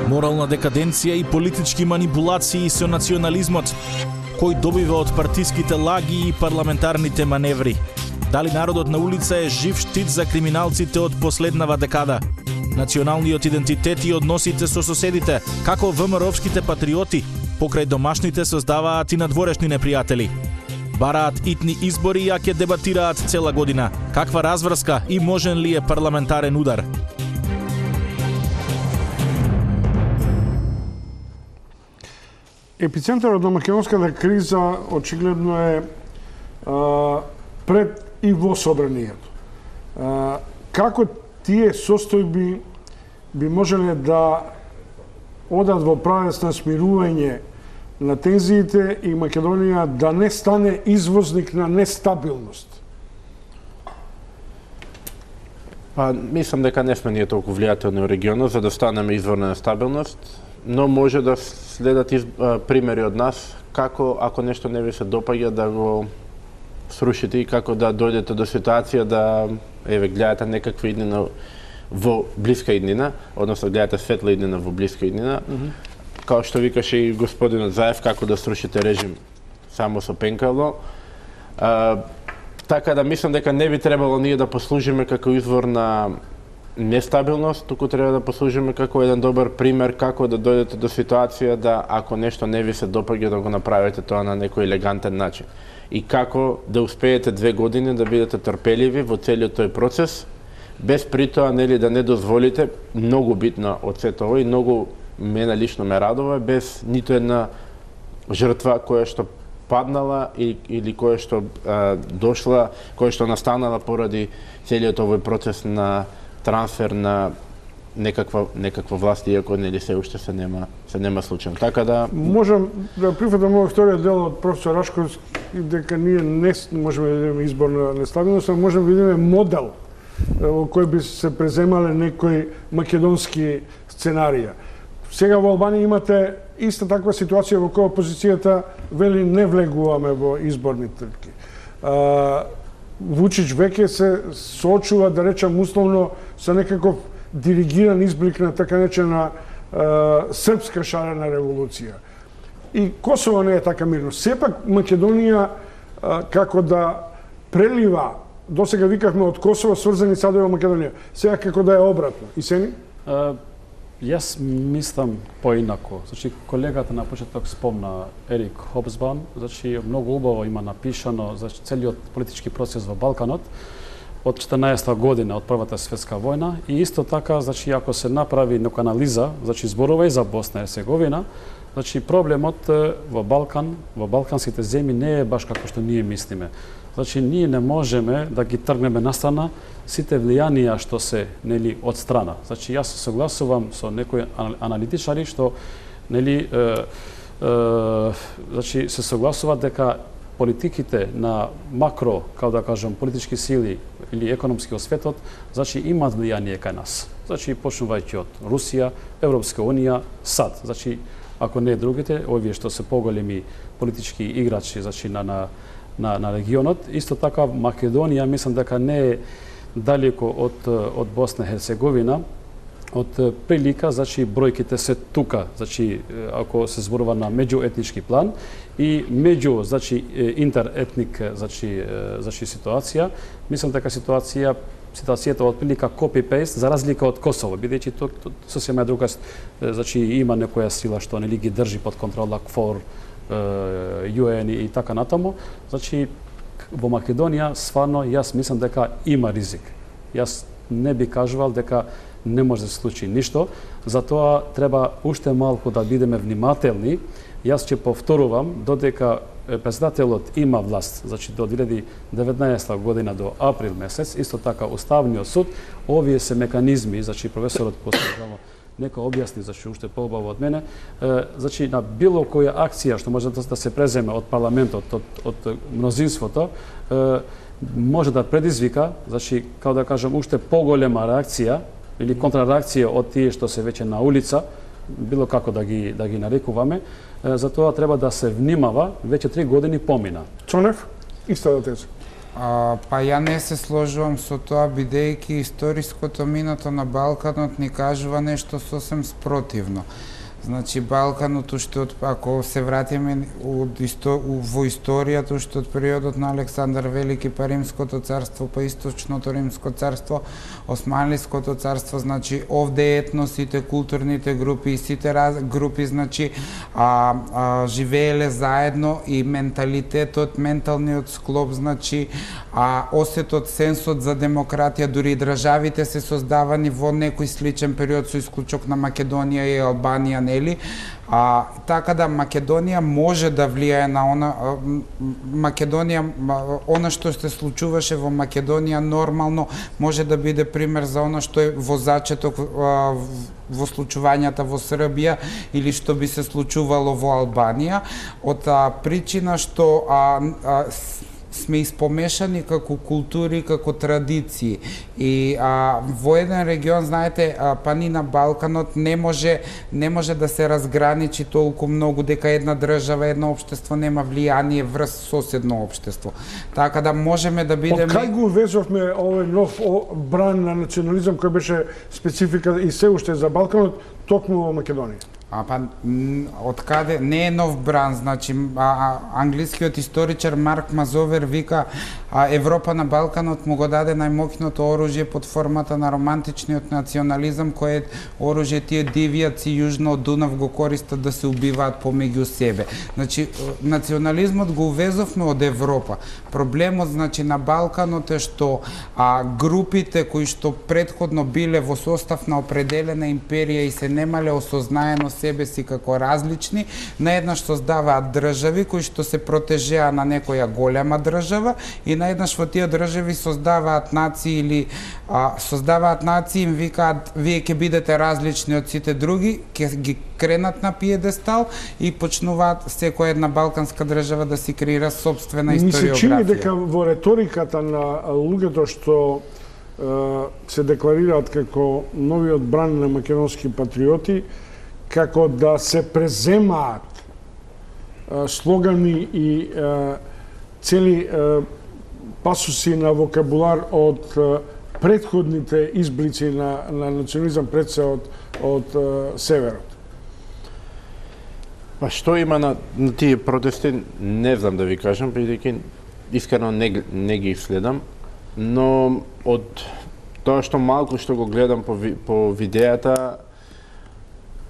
Морална декаденција и политички манипулации со национализмот, кој добива од партиските лаги и парламентарните маневри. Дали народот на улица е жив штит за криминалците од последнава декада? Националниот идентитет и односите со соседите, како ВМРО-вските патриоти, покрај домашните создаваат и надворешни непријатели. Бараат итни избори, а ќе дебатираат цела година. Каква разврска и можен ли е парламентарен удар? Епицентарот на македонската криза очигледно е а, пред и во собранието. Како тие состојби би можеле да одат во правец на смирување на тензиите и Македонија да не стане извозник на нестабилност? Па, мислам дека не сме ние толку влијателни во регионот за да станеме извор на нестабилност, но може да следат из, а, примери од нас како ако нешто не ви се допаѓа да го срушите и како да дојдете до ситуација да еве гледате некаква иднина во блиска иднина, односно гледате светла иднина во блиска иднина, mm -hmm. Као што викаше и господинот Заев, како да срушите режим само со пенкало. А, така да мислам дека не би требало ние да послужиме како извор на нестабилност, туку треба да послужиме како еден добар пример како да дојдете до ситуација да ако нешто не ви се допаѓа да го направите тоа на некој елегантен начин. И како да успеете две години да бидете трпеливи во целиот тој процес, без притоа нели да не дозволите, многу битно од сето ова и многу мене лично ме радува, без ниту една жртва која што паднала и, или која што а, дошла, која што настанала поради целиот овој процес на трансфер на некаква некаква власт, иако нели се уште се нема се нема случај. Така да можам да прифатам овој вториот дел од професор Рашковски дека ние не можеме да видиме избор на нестабилност, а можеме да видиме модел во кој би се преземале некои македонски сценарија. Сега во Албанија имате иста таква ситуација во која опозицијата вели не влегуваме во изборни трки. Вучич веќе се соочува, да речам условно, со некаков диригиран изблик на така наречена српска шарена револуција. И Косово не е така мирно. Сепак Македонија како да прелива, досега викавме од Косово сврзани садови во Македонија, сега како да е обратно. И Сени? Јас мислам поинако. Значи, колегата на почеток спомна Ерик Хобсбаум, значи многу убаво има напишано за целиот политички процес во Балканот од четрнаесетта година од Првата светска војна и исто така, значи ако се направи нека анализа, значи зборува и за Босна и Херцеговина, значи проблемот во Балкан, во балканските земји не е баш како што ние мислиме. Значи ние не можеме да ги тргнеме настрана сите влијанија што се нели од страна. Значи јас се согласувам со некои аналитичари што нели е, е, значи се согласуваат дека политиките на макро, како да кажам, политички сили или економски светот, значи имаат влијание кај нас. Значи почнувајќи од Русија, Европска унија, САД. Значи ако не другите, овие што се поголеми политички играчи, значи на на на на регионот, исто така Македонија мислам дека не е далеко од од Босна и Херцеговина, од прилика, значи бројките се тука, значи ако се зборува на меѓуетнички план и меѓу, значи интеретник, значи значи ситуација, мислам дека ситуација ситуацијата од прилика копи-пейст за разлика од Косово, бидејќи тоа сосема друга, значи има некоја сила што нели ги држи под контрола КФОР, ју ен и така натаму. Значи во Македонија стварно јас мислам дека има ризик. Јас не би кажувал дека не може да се случи ништо, затоа треба уште малку да бидеме внимателни. Јас ќе повторувам, додека председателот има власт, значи до две илјади и деветнаесетта година до април месец, исто така Уставниот суд, овие се механизми, значи професорот посебно нека објасни, значи уште поубаво од мене, значи на било која акција што може да се преземе од парламентот, од, од мнозинството, може да предизвика, значи, како да кажам, уште поголема реакција или контрареакција од тие што се веќе на улица, било како да ги да ги нарекуваме, затоа треба да се внимава, веќе три години помина. Цонев, иста да теза. А, па ја не се сложувам со тоа, бидејќи историското минато на Балканот ни кажува нешто сосем спротивно. Значи, Балканот уште од, ако се вратиме од исто, во историјата, уште од периодот на Александар Велики, па Римското царство, па Источното Римско царство, Османлиското царство, значи, овде етносите, културните групи и сите раз, групи, значи, а, а, живееле заедно и менталитетот, менталниот склоп, значи, а осетот, сенсот за демократија, дури и државите се создавани во некој сличен период со исклучок на Македонија и Албанија, нели? А, така да Македонија може да влијае на она Македонија, она што се случуваше во Македонија нормално може да биде пример за она што е во зачеток во случувањата во Србија или што би се случувало во Албанија, од а, причина што а, а, сме испомешани како култури, како традиции. И а, во еден регион, знаете, а, па ни на Балканот не може не може да се разграничи толку многу дека една држава, едно општество нема влијание врз соседно општество. Така да можеме да бидеме... Од кај го везовме овој нов бран на национализам кој беше специфика и се уште за Балканот, токму во Македонија? А па од каде не е нов бран, значи а, а, англискиот историчар Марк Мазовер вика а Европа на Балканот му го даде најмоќното оружје под формата на романтичниот национализам, кое оружје тие дивијаци јужно од Дунав го користат да се убиваат помеѓу себе. Значи национализмот го увезовме од Европа. Проблемот значи на Балканот е што а групите кои што претходно биле во состав на определена империја и се немале осознаено себе си како различни, наеднаш создаваат држави кои што се протежеа на некоја голема држава и наеднаш во тие држави создаваат нации или а, создаваат нации им викаат вие ќе бидете различни од сите други, ќе ги кренат на пиедестал и почнуваат секоја една балканска држава да си креира собствена историографија. Ми се чини дека во реториката на луѓето што е, се декларираат како новиот бран на македонски патриоти, како да се преземаат е, слогани и е, цели е, пасуси на вокабулар од е, претходните изблици на, на национализам пред се од, од е, северот. Па што има на, на тие протести, не знам да ви кажам, бидејќи искрено не, не ги следам, но од тоа што малку што го гледам по, по видеата,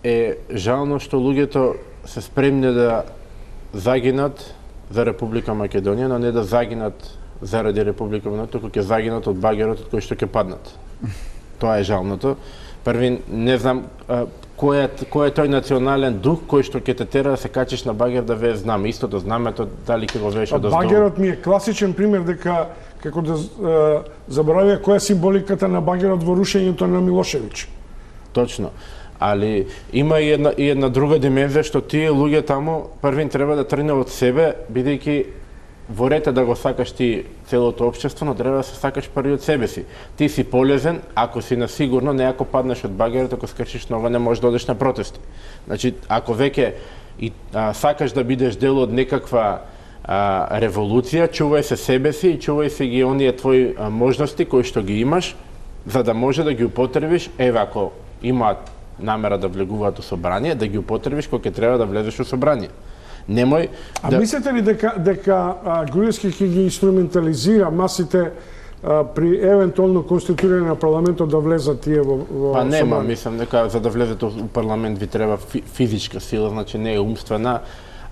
е жално што луѓето се спремни да загинат за Република Македонија, но не да загинат заради Република Македонија, туку ќе загинат од багерот од кој што ќе паднат. Тоа е жалното. Први, не знам а, кој, е, кој е тој национален дух кој што ќе те тера да се качиш на багер да вее знаме. Истото знамето, дали ќе го вееш од оздолу. Багерот ми е класичен пример дека како да е, заборавија која е символиката на багерот во рушењето на Милошевиќ. Точно. Али има и една, и една друга димензија што тие луѓе таму првин треба да тргне од себе, бидејќи во ред да го сакаш ти целото општество, но треба да се сакаш први од себе си. Ти си полезен ако си на сигурно, не ако паднеш од багерот, ако скршиш нога не можеш да одеш на протести. Значи, ако веќе и а, сакаш да бидеш дел од некаква а, револуција, чувај се себе си и чувај се ги оние твои а, можности кои што ги имаш, за да може да ги употребиш, еве ако имаат намера да влегуваат у собрание, да ги употребиш кога ќе треба да влезеш у собрание. Немој А да... мислите ли дека дека Груевски ќе ги инструментализира масите а, при евентуално конституирање на парламентот да влезат тие во, во Па нема, собрание? мислам дека за да влезете у парламент ви треба фи, физичка сила, значи не е умствена.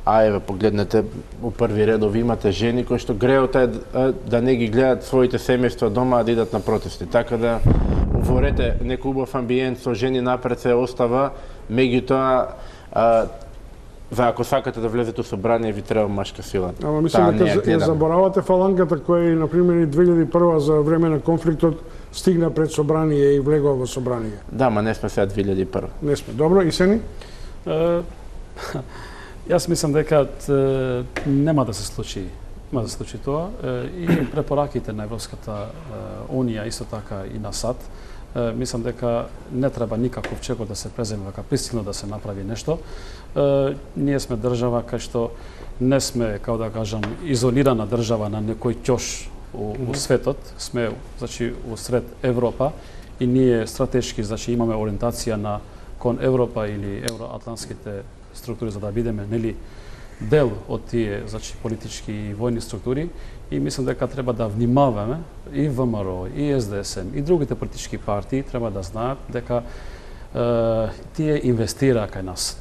А еве погледнете, у први редови имате жени кои што греот е да не ги гледаат своите семејства дома, а да идат на протести. Така да уворете некој убав амбиент со жени напред се остава, меѓутоа за ако сакате да влезете у собрание ви треба машка сила. Ама мислам дека ја заборавате фалангата која на пример и две илјади и прва за време на конфликтот стигна пред собрание и влегува во собрание. Да, ма не сме сега две илјади и прва. Не сме. Добро, и Сени? Uh, Јас мислам дека е, нема да се случи, нема да се случи тоа е, и препораките на Европската е, Унија исто така и на САД. Е, мислам дека не треба никаков чекор да се преземе вака пристигно да се направи нешто. Е, ние сме држава кај што не сме, како да кажам, изолирана држава на некој ќош у, у светот, сме значи усред Европа и ние стратешки значи имаме ориентација на кон Европа или евроатлантските структури за да бидеме нели дел од тие значи политички и војни структури и мислам дека треба да внимаваме и ВМРО и С Д С М и другите политички партии треба да знаат дека е, тие инвестираа кај нас.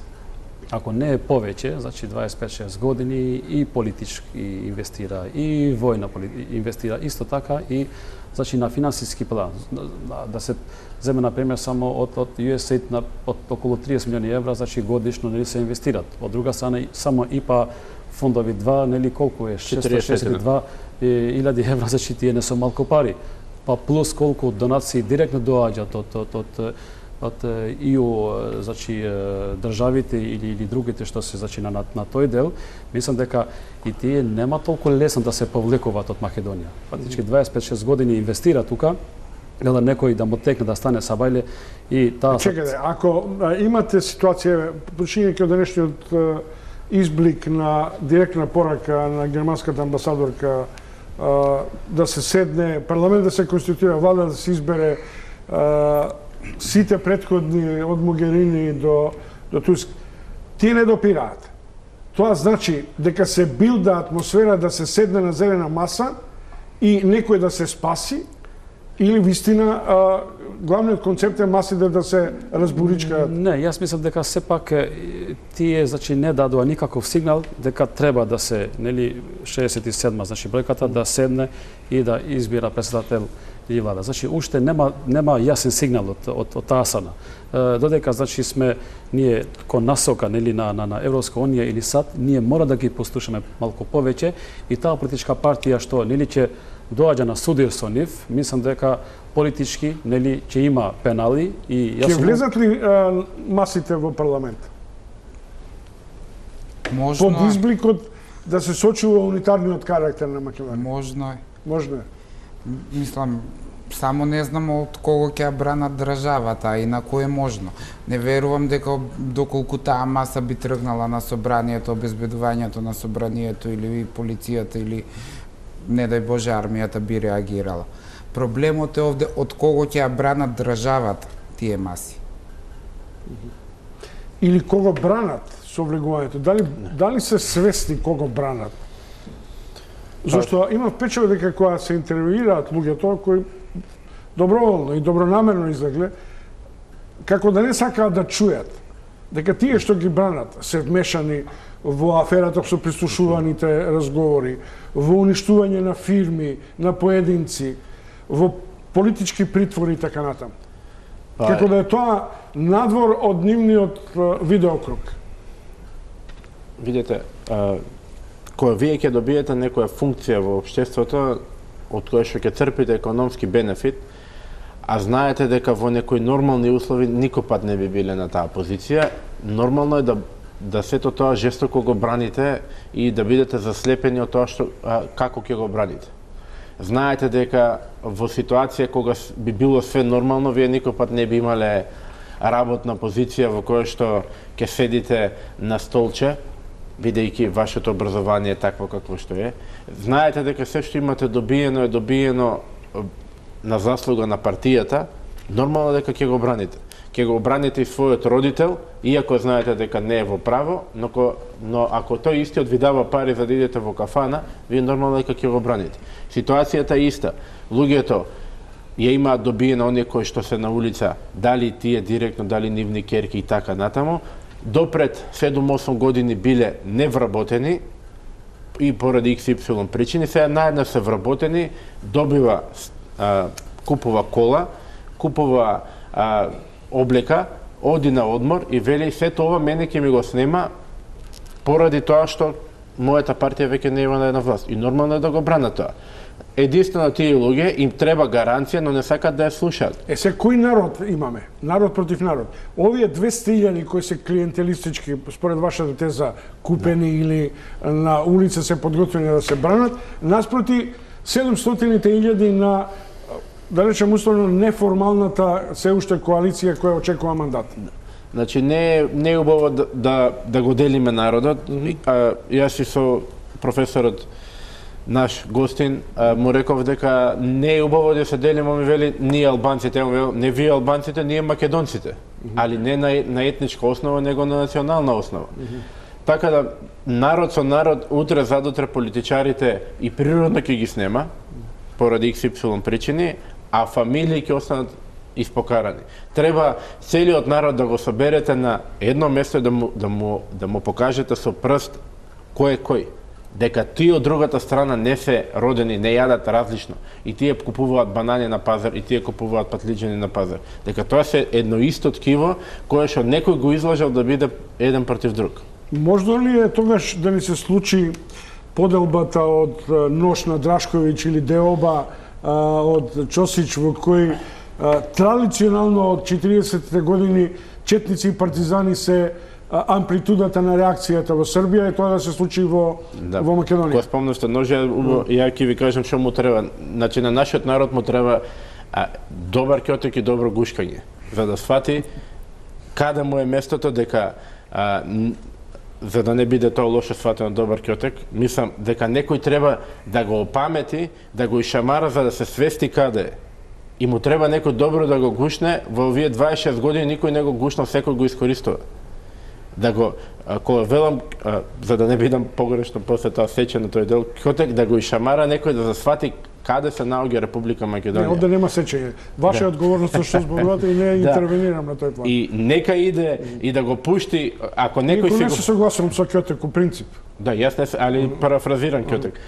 ако не е повеќе, значи дваесет и пет шест години и политички инвестира, и војна инвестира, исто така и значи на финансиски план. Да, да се земе на пример само од од ю ес ей ай ди на од околу триесет милиони евра, значи годишно нели се инвестират. Од друга страна само и па фондови два, нели колку е шестоста шеесет и две илјади евра, значи тие не се малку пари. Па плюс колку донации директно доаѓаат од од од од и у значи државите или или другите што се значи на на тој дел, мислам дека и тие нема толку лесно да се повлекуваат од Македонија. Фактички дваесет и пет шест години инвестира тука, да некој да му текне да стане сабајле и таа. Чекајте, ако имате ситуација, починајќи од денешниот изблик на директна порака на германската амбасадорка да се седне, парламент да се конституира, влада да се избере, сите претходни од Могерини до до Туск, тие не допираат. Тоа значи дека се билда атмосфера да се седне на зелена маса и некој да се спаси, или вистина главниот концепт е масите да се разборичкаат? Не, јас мислам дека сепак тие значи не дадоа никаков сигнал дека треба да се, нели, шеесет и седма, значи бројката да седне и да избира председател или влада. Значи уште нема нема јасен сигнал од од, од таа страна. Додека значи сме ние кон насока, нели, на на, на Европска унија или САД, ние мора да ги послушаме малку повеќе и таа политичка партија што нели ќе доаѓа на судир со нив, мислам дека политички, нели, ќе има пенали и јас ќе влезат ли а, масите во парламент? Можно. Под избликот да се сочува унитарниот карактер на Македонија. Можно е. Можно е. Мислам, само не знам од кого ќе ја бранат државата, и на кој е можно. Не верувам дека доколку таа маса би тргнала на собранието, обезбедувањето на собранието или полицијата или не дај Боже армијата би реагирала. Проблемот е овде од кого ќе ја бранат државата тие маси. Или кого бранат со влегувањето? Дали дали се свесни кого бранат? Зошто има впечаток дека кога се интервјуираат луѓето кои доброволно и добронамерно излегле, како да не сакаат да чујат дека тие што ги бранат се вмешани во аферата со прислушуваните разговори, во уништување на фирми, на поединци, во политички притвори и така натаму. Како да е тоа надвор од нивниот видеокруг. Видете, кога вие ќе добиете некоја функција во општеството од која што ќе црпите економски бенефит, а знаете дека во некои нормални услови никој пат не би биле на таа позиција, нормално е да да сето тоа жестоко го браните и да бидете заслепени од тоа што а, како ќе го браните. Знаете дека во ситуација кога би било све нормално, вие никој пат не би имале работна позиција во која што ќе седите на столче, бидејќи вашето образование е такво какво што е. Знаете дека се што имате добиено е добиено на заслуга на партијата, нормално дека ќе го браните. Ќе го браните и својот родител, иако знаете дека не е во право, но, но ако тој истиот ви дава пари за да идете во кафана, вие нормално дека ќе го браните. Ситуацијата е иста. Луѓето ја имаат добиено оние кои што се на улица, дали тие директно, дали нивни керки и така натаму, допред седум-осум години биле невработени и поради икс ипсилон причини, сега наеднаш се вработени, добива, а, купува кола, купува а, облека, оди на одмор и вели сето ова мене ќе ми го снема поради тоа што мојата партија веќе не има на власт. И нормално е да го бранат тоа. Единствено тие луѓе им треба гаранција, но не сакат да ја слушаат. Е, се кој народ имаме? Народ против народ. Овие двесте илјади кои се клиентелистички, според вашата теза, купени да. Или на улица се подготвени да се бранат, наспроти седумстотини илјади на, да речем условно, неформалната се уште коалиција која очекува мандат. Значи не не е убаво да, да да го делиме народот. Mm-hmm. а, јас и со професорот наш гостин а, му реков дека не е убаво да се делиме, ми вели ние албанците, не вие албанците, ние македонците. Mm-hmm. Али не на, на етничка основа, него на национална основа. Mm-hmm. Така да народ со народ утре задутре политичарите и природно ќе ги снема поради икс ипсилон причини, а фамилии ќе останат испокарани. Треба целиот народ да го соберете на едно место и да му, да му, да му покажете со прст кој е кој. Дека тие од другата страна не се родени, не јадат различно. И тие купуваат банани на пазар, и тие купуваат патлиџани на пазар. Дека тоа се едно исто ткиво кое што некој го излажал да биде еден против друг. Можно ли е тогаш да ни се случи поделбата од нож на Драшковиќ или деоба од Чосич, во кој традиционално од четиридесетте години четници и партизани се амплитудата на реакцијата во Србија и тоа да се случи во, да. во Македонија. Кога спомнавте ножа, ја ќе ви кажам што му треба. Значи на нашиот народ му треба а, добар ќотек и добро гушкање, за да свати каде му е местото, дека а, за да не биде тоа лошо сватено добар ќотек, мислам дека некој треба да го опамети, да го ишамара за да се свести каде е. И му треба некој добро да го гушне, во овие дваесет и шест години никој не го гушнал, секој го искористува. Да го, кога велам, а, за да не бидам погрешно после тоа сече на тој дел, ќотек да го ишамара некој да засвати каде се наоѓа Република Македонија. Не, овде нема сечење. Ваша да. одговорност што зборувате и не да. интервенирам на тој план. И нека иде и да го пушти, ако некој си си не го... се согласувам со ќотек у принцип. Да, јас не се, али парафразирам ќотек.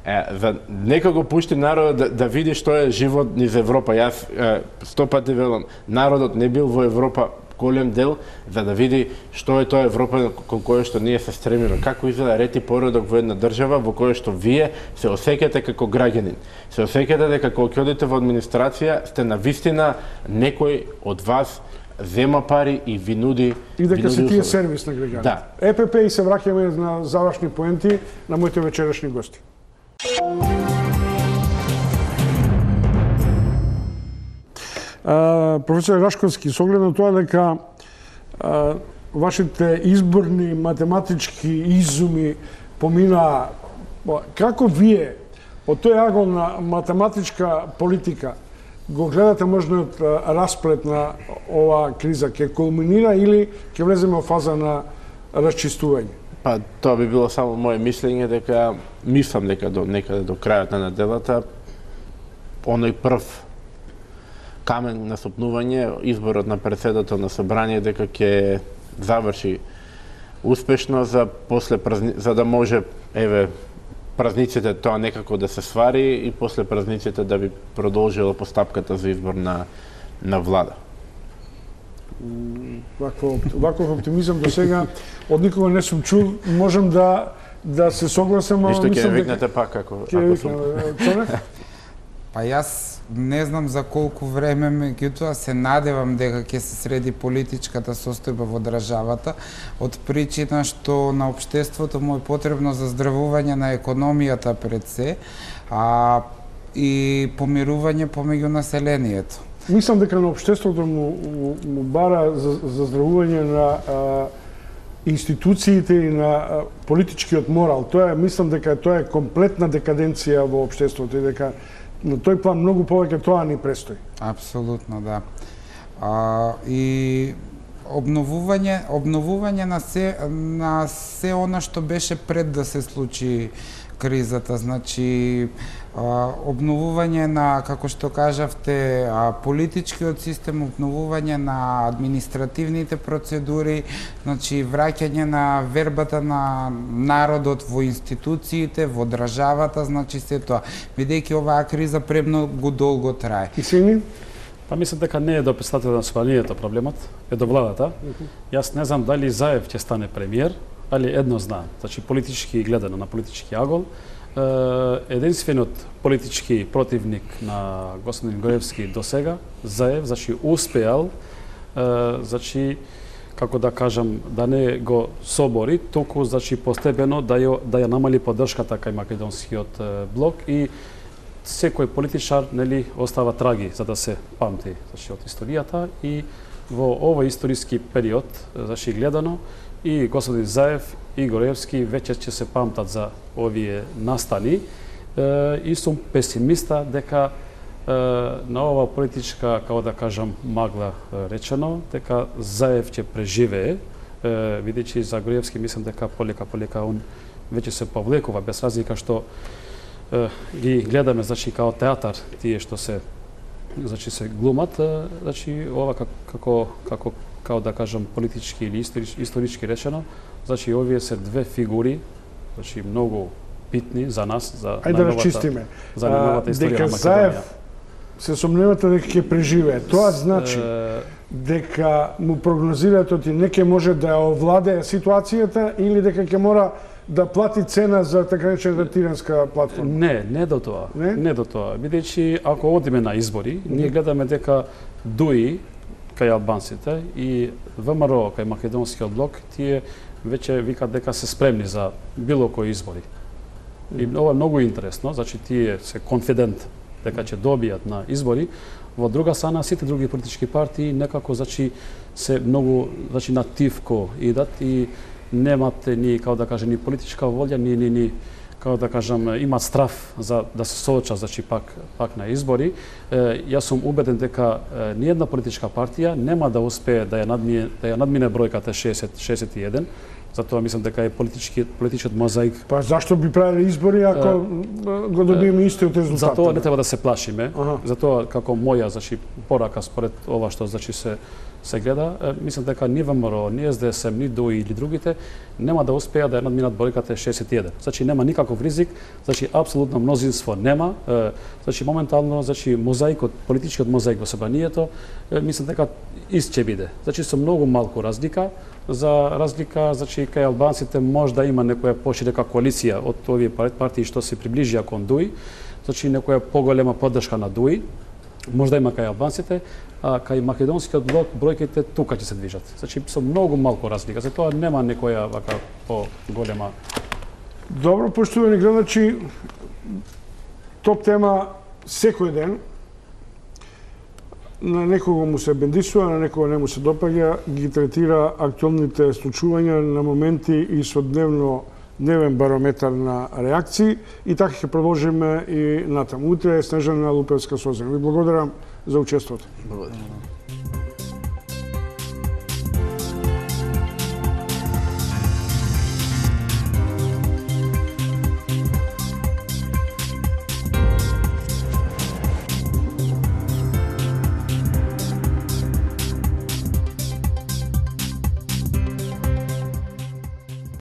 Е, за нека го пушти народот да, да види што е живот низ Европа. Јас е, сто пати велам, народот не бил во Европа голем дел за да види што е тоа Европа кон која што ние се стремиме. Како изгледа ред и поредок во една држава во која што вие се осеќате како граѓанин. Се осеќате дека кога ќе одите во администрација сте на вистина некој од вас зема пари и ви нуди и дека се тие сервис на граѓаните. Да. Е Пе Пе и се враќаме на завршни поенти на моите вечерашни гости. Uh, професор Рашковски, со оглед на тоа дека uh, вашите изборни математички изуми поминаа, како вие од тој агол на математичка политика го гледате можниот uh, расплет на оваа криза? Ќе кулминира или ќе влеземе во фаза на расчистување? Па тоа би било само моје мислење, дека мислам дека до некаде до крајот на неделата оној прв камен на сопнување, изборот на претседател на собрание, дека ќе заврши успешно за после празни... за да може еве празниците тоа некако да се свари и после празниците да би продолжила постапката за избор на на влада. Вакво ваков оптимизам до сега од никога не сум чул. Можам да да се согласам, ама мислам дека ќе викнете дека... пак ако ако сум. Па јас не знам за колку време, меѓутоа се надевам дека ќе се среди политичката состојба во државата, од причина што на општеството му е потребно заздравување на економијата пред се, а и помирување помеѓу населението. Мислам дека на општеството му, му, му бара за, заздравување на а, институциите и на а, политичкиот морал. Тоа е, мислам дека тоа е комплетна декаденција во општеството и дека на тој план многу повеќе тоа ни престои. Апсолутно, да. А, и обновување, обновување на се на се она што беше пред да се случи кризата, значи а, обновување на, како што кажавте, а, политичкиот систем, обновување на административните процедури, значи враќање на вербата на народот во институциите, во државата, значи се тоа. Бидејќи оваа криза премногу долго трае. И сини? Па мислам дека не е до претседателот на собранието проблемот, е до владата. Јас не знам дали Заев ќе стане премиер, али едно знам, значи политички гледано на политички агол, единствениот политички противник на господин Груевски до сега, Заев, значи успеал, значи како да кажам, да не го собори, толку значи постепено да ја да ја намали поддршката кај македонскиот блок и секој политичар нели остава траги за да се памти значи од историјата и во овој историски период значи гледано и господин Заев и Груевски веќе ќе се памтат за овие настани и сум песимиста дека на ова политичка, како да кажам, магла речено, дека Заев ќе преживее, бидејќи за Груевски мислам дека полека полека он веќе се повлекува без разлика што ги гледаме значи као театар тие што се значи се глумат, значи ова како како како да кажам политички или исторички речено, значи овие се две фигури, значи многу битни за нас, за Ајде да расчистиме. За новата историја дека на Македонија. Заев се сомневате дека ќе преживее. Тоа значи дека му прогнозирате оти не ќе може да овладее ситуацијата или дека ќе мора да плати цена за така наречената тиранска платформа? Не, не до тоа. Не, не до тоа. Бидејќи ако одиме на избори, ние гледаме дека ДУИ кај албанците и ВМРО кај македонскиот блок, тие веќе викат дека се спремни за било кои избори. И ова е многу интересно, значи тие се конфидент дека ќе добијат на избори. Во друга страна, сите други политички партии некако значи се многу значи нативко идат и немат ни како да кажем ни политичка волја, ни ни ни како да кажам имаат страф за да се соочат значи пак пак на избори. Е, јас сум убеден дека е, ни една политичка партија нема да успее да ја надмине да ја надмине бројката шесет шесет и еден. Затоа мислам дека е политички политичкиот мозаик. Па зашто би правиле избори ако е, го добиеме истиот резултат? Затоа не треба да се плашиме. Ага. Затоа како моја значи порака според ова што значи се се гледа, е, мислам дека ни ВМРО, ни С Д С М, ни ДУИ или другите нема да успеат да ја надминат бројката шесет и еден. Значи нема никаков ризик, значи апсолутно мнозинство нема. Е, значи моментално значи мозаикот, политичкиот мозаик во собранието, е, мислам дека ист ќе биде. Значи со многу малку разлика. За разлика, значи кај албанците може да има некоја поширока коалиција од овие партии што се приближија кон ДУИ, значи некоја поголема поддршка на ДУИ, може да има кај албанците, а кај македонскиот блок бројките тука ќе се движат. Значи со многу малку разлика, затоа нема некоја вака поголема. Добро, поштувани гледачи, топ тема секој ден. На некого му се бендисува, на некого не му се допаѓа, ги третира актуелните случувања на моменти и со дневно дневен барометар на реакции и така ќе продолжиме и натаму. Утре е Снежана Лупевска Созен. Ви благодарам за учеството. Благодарам.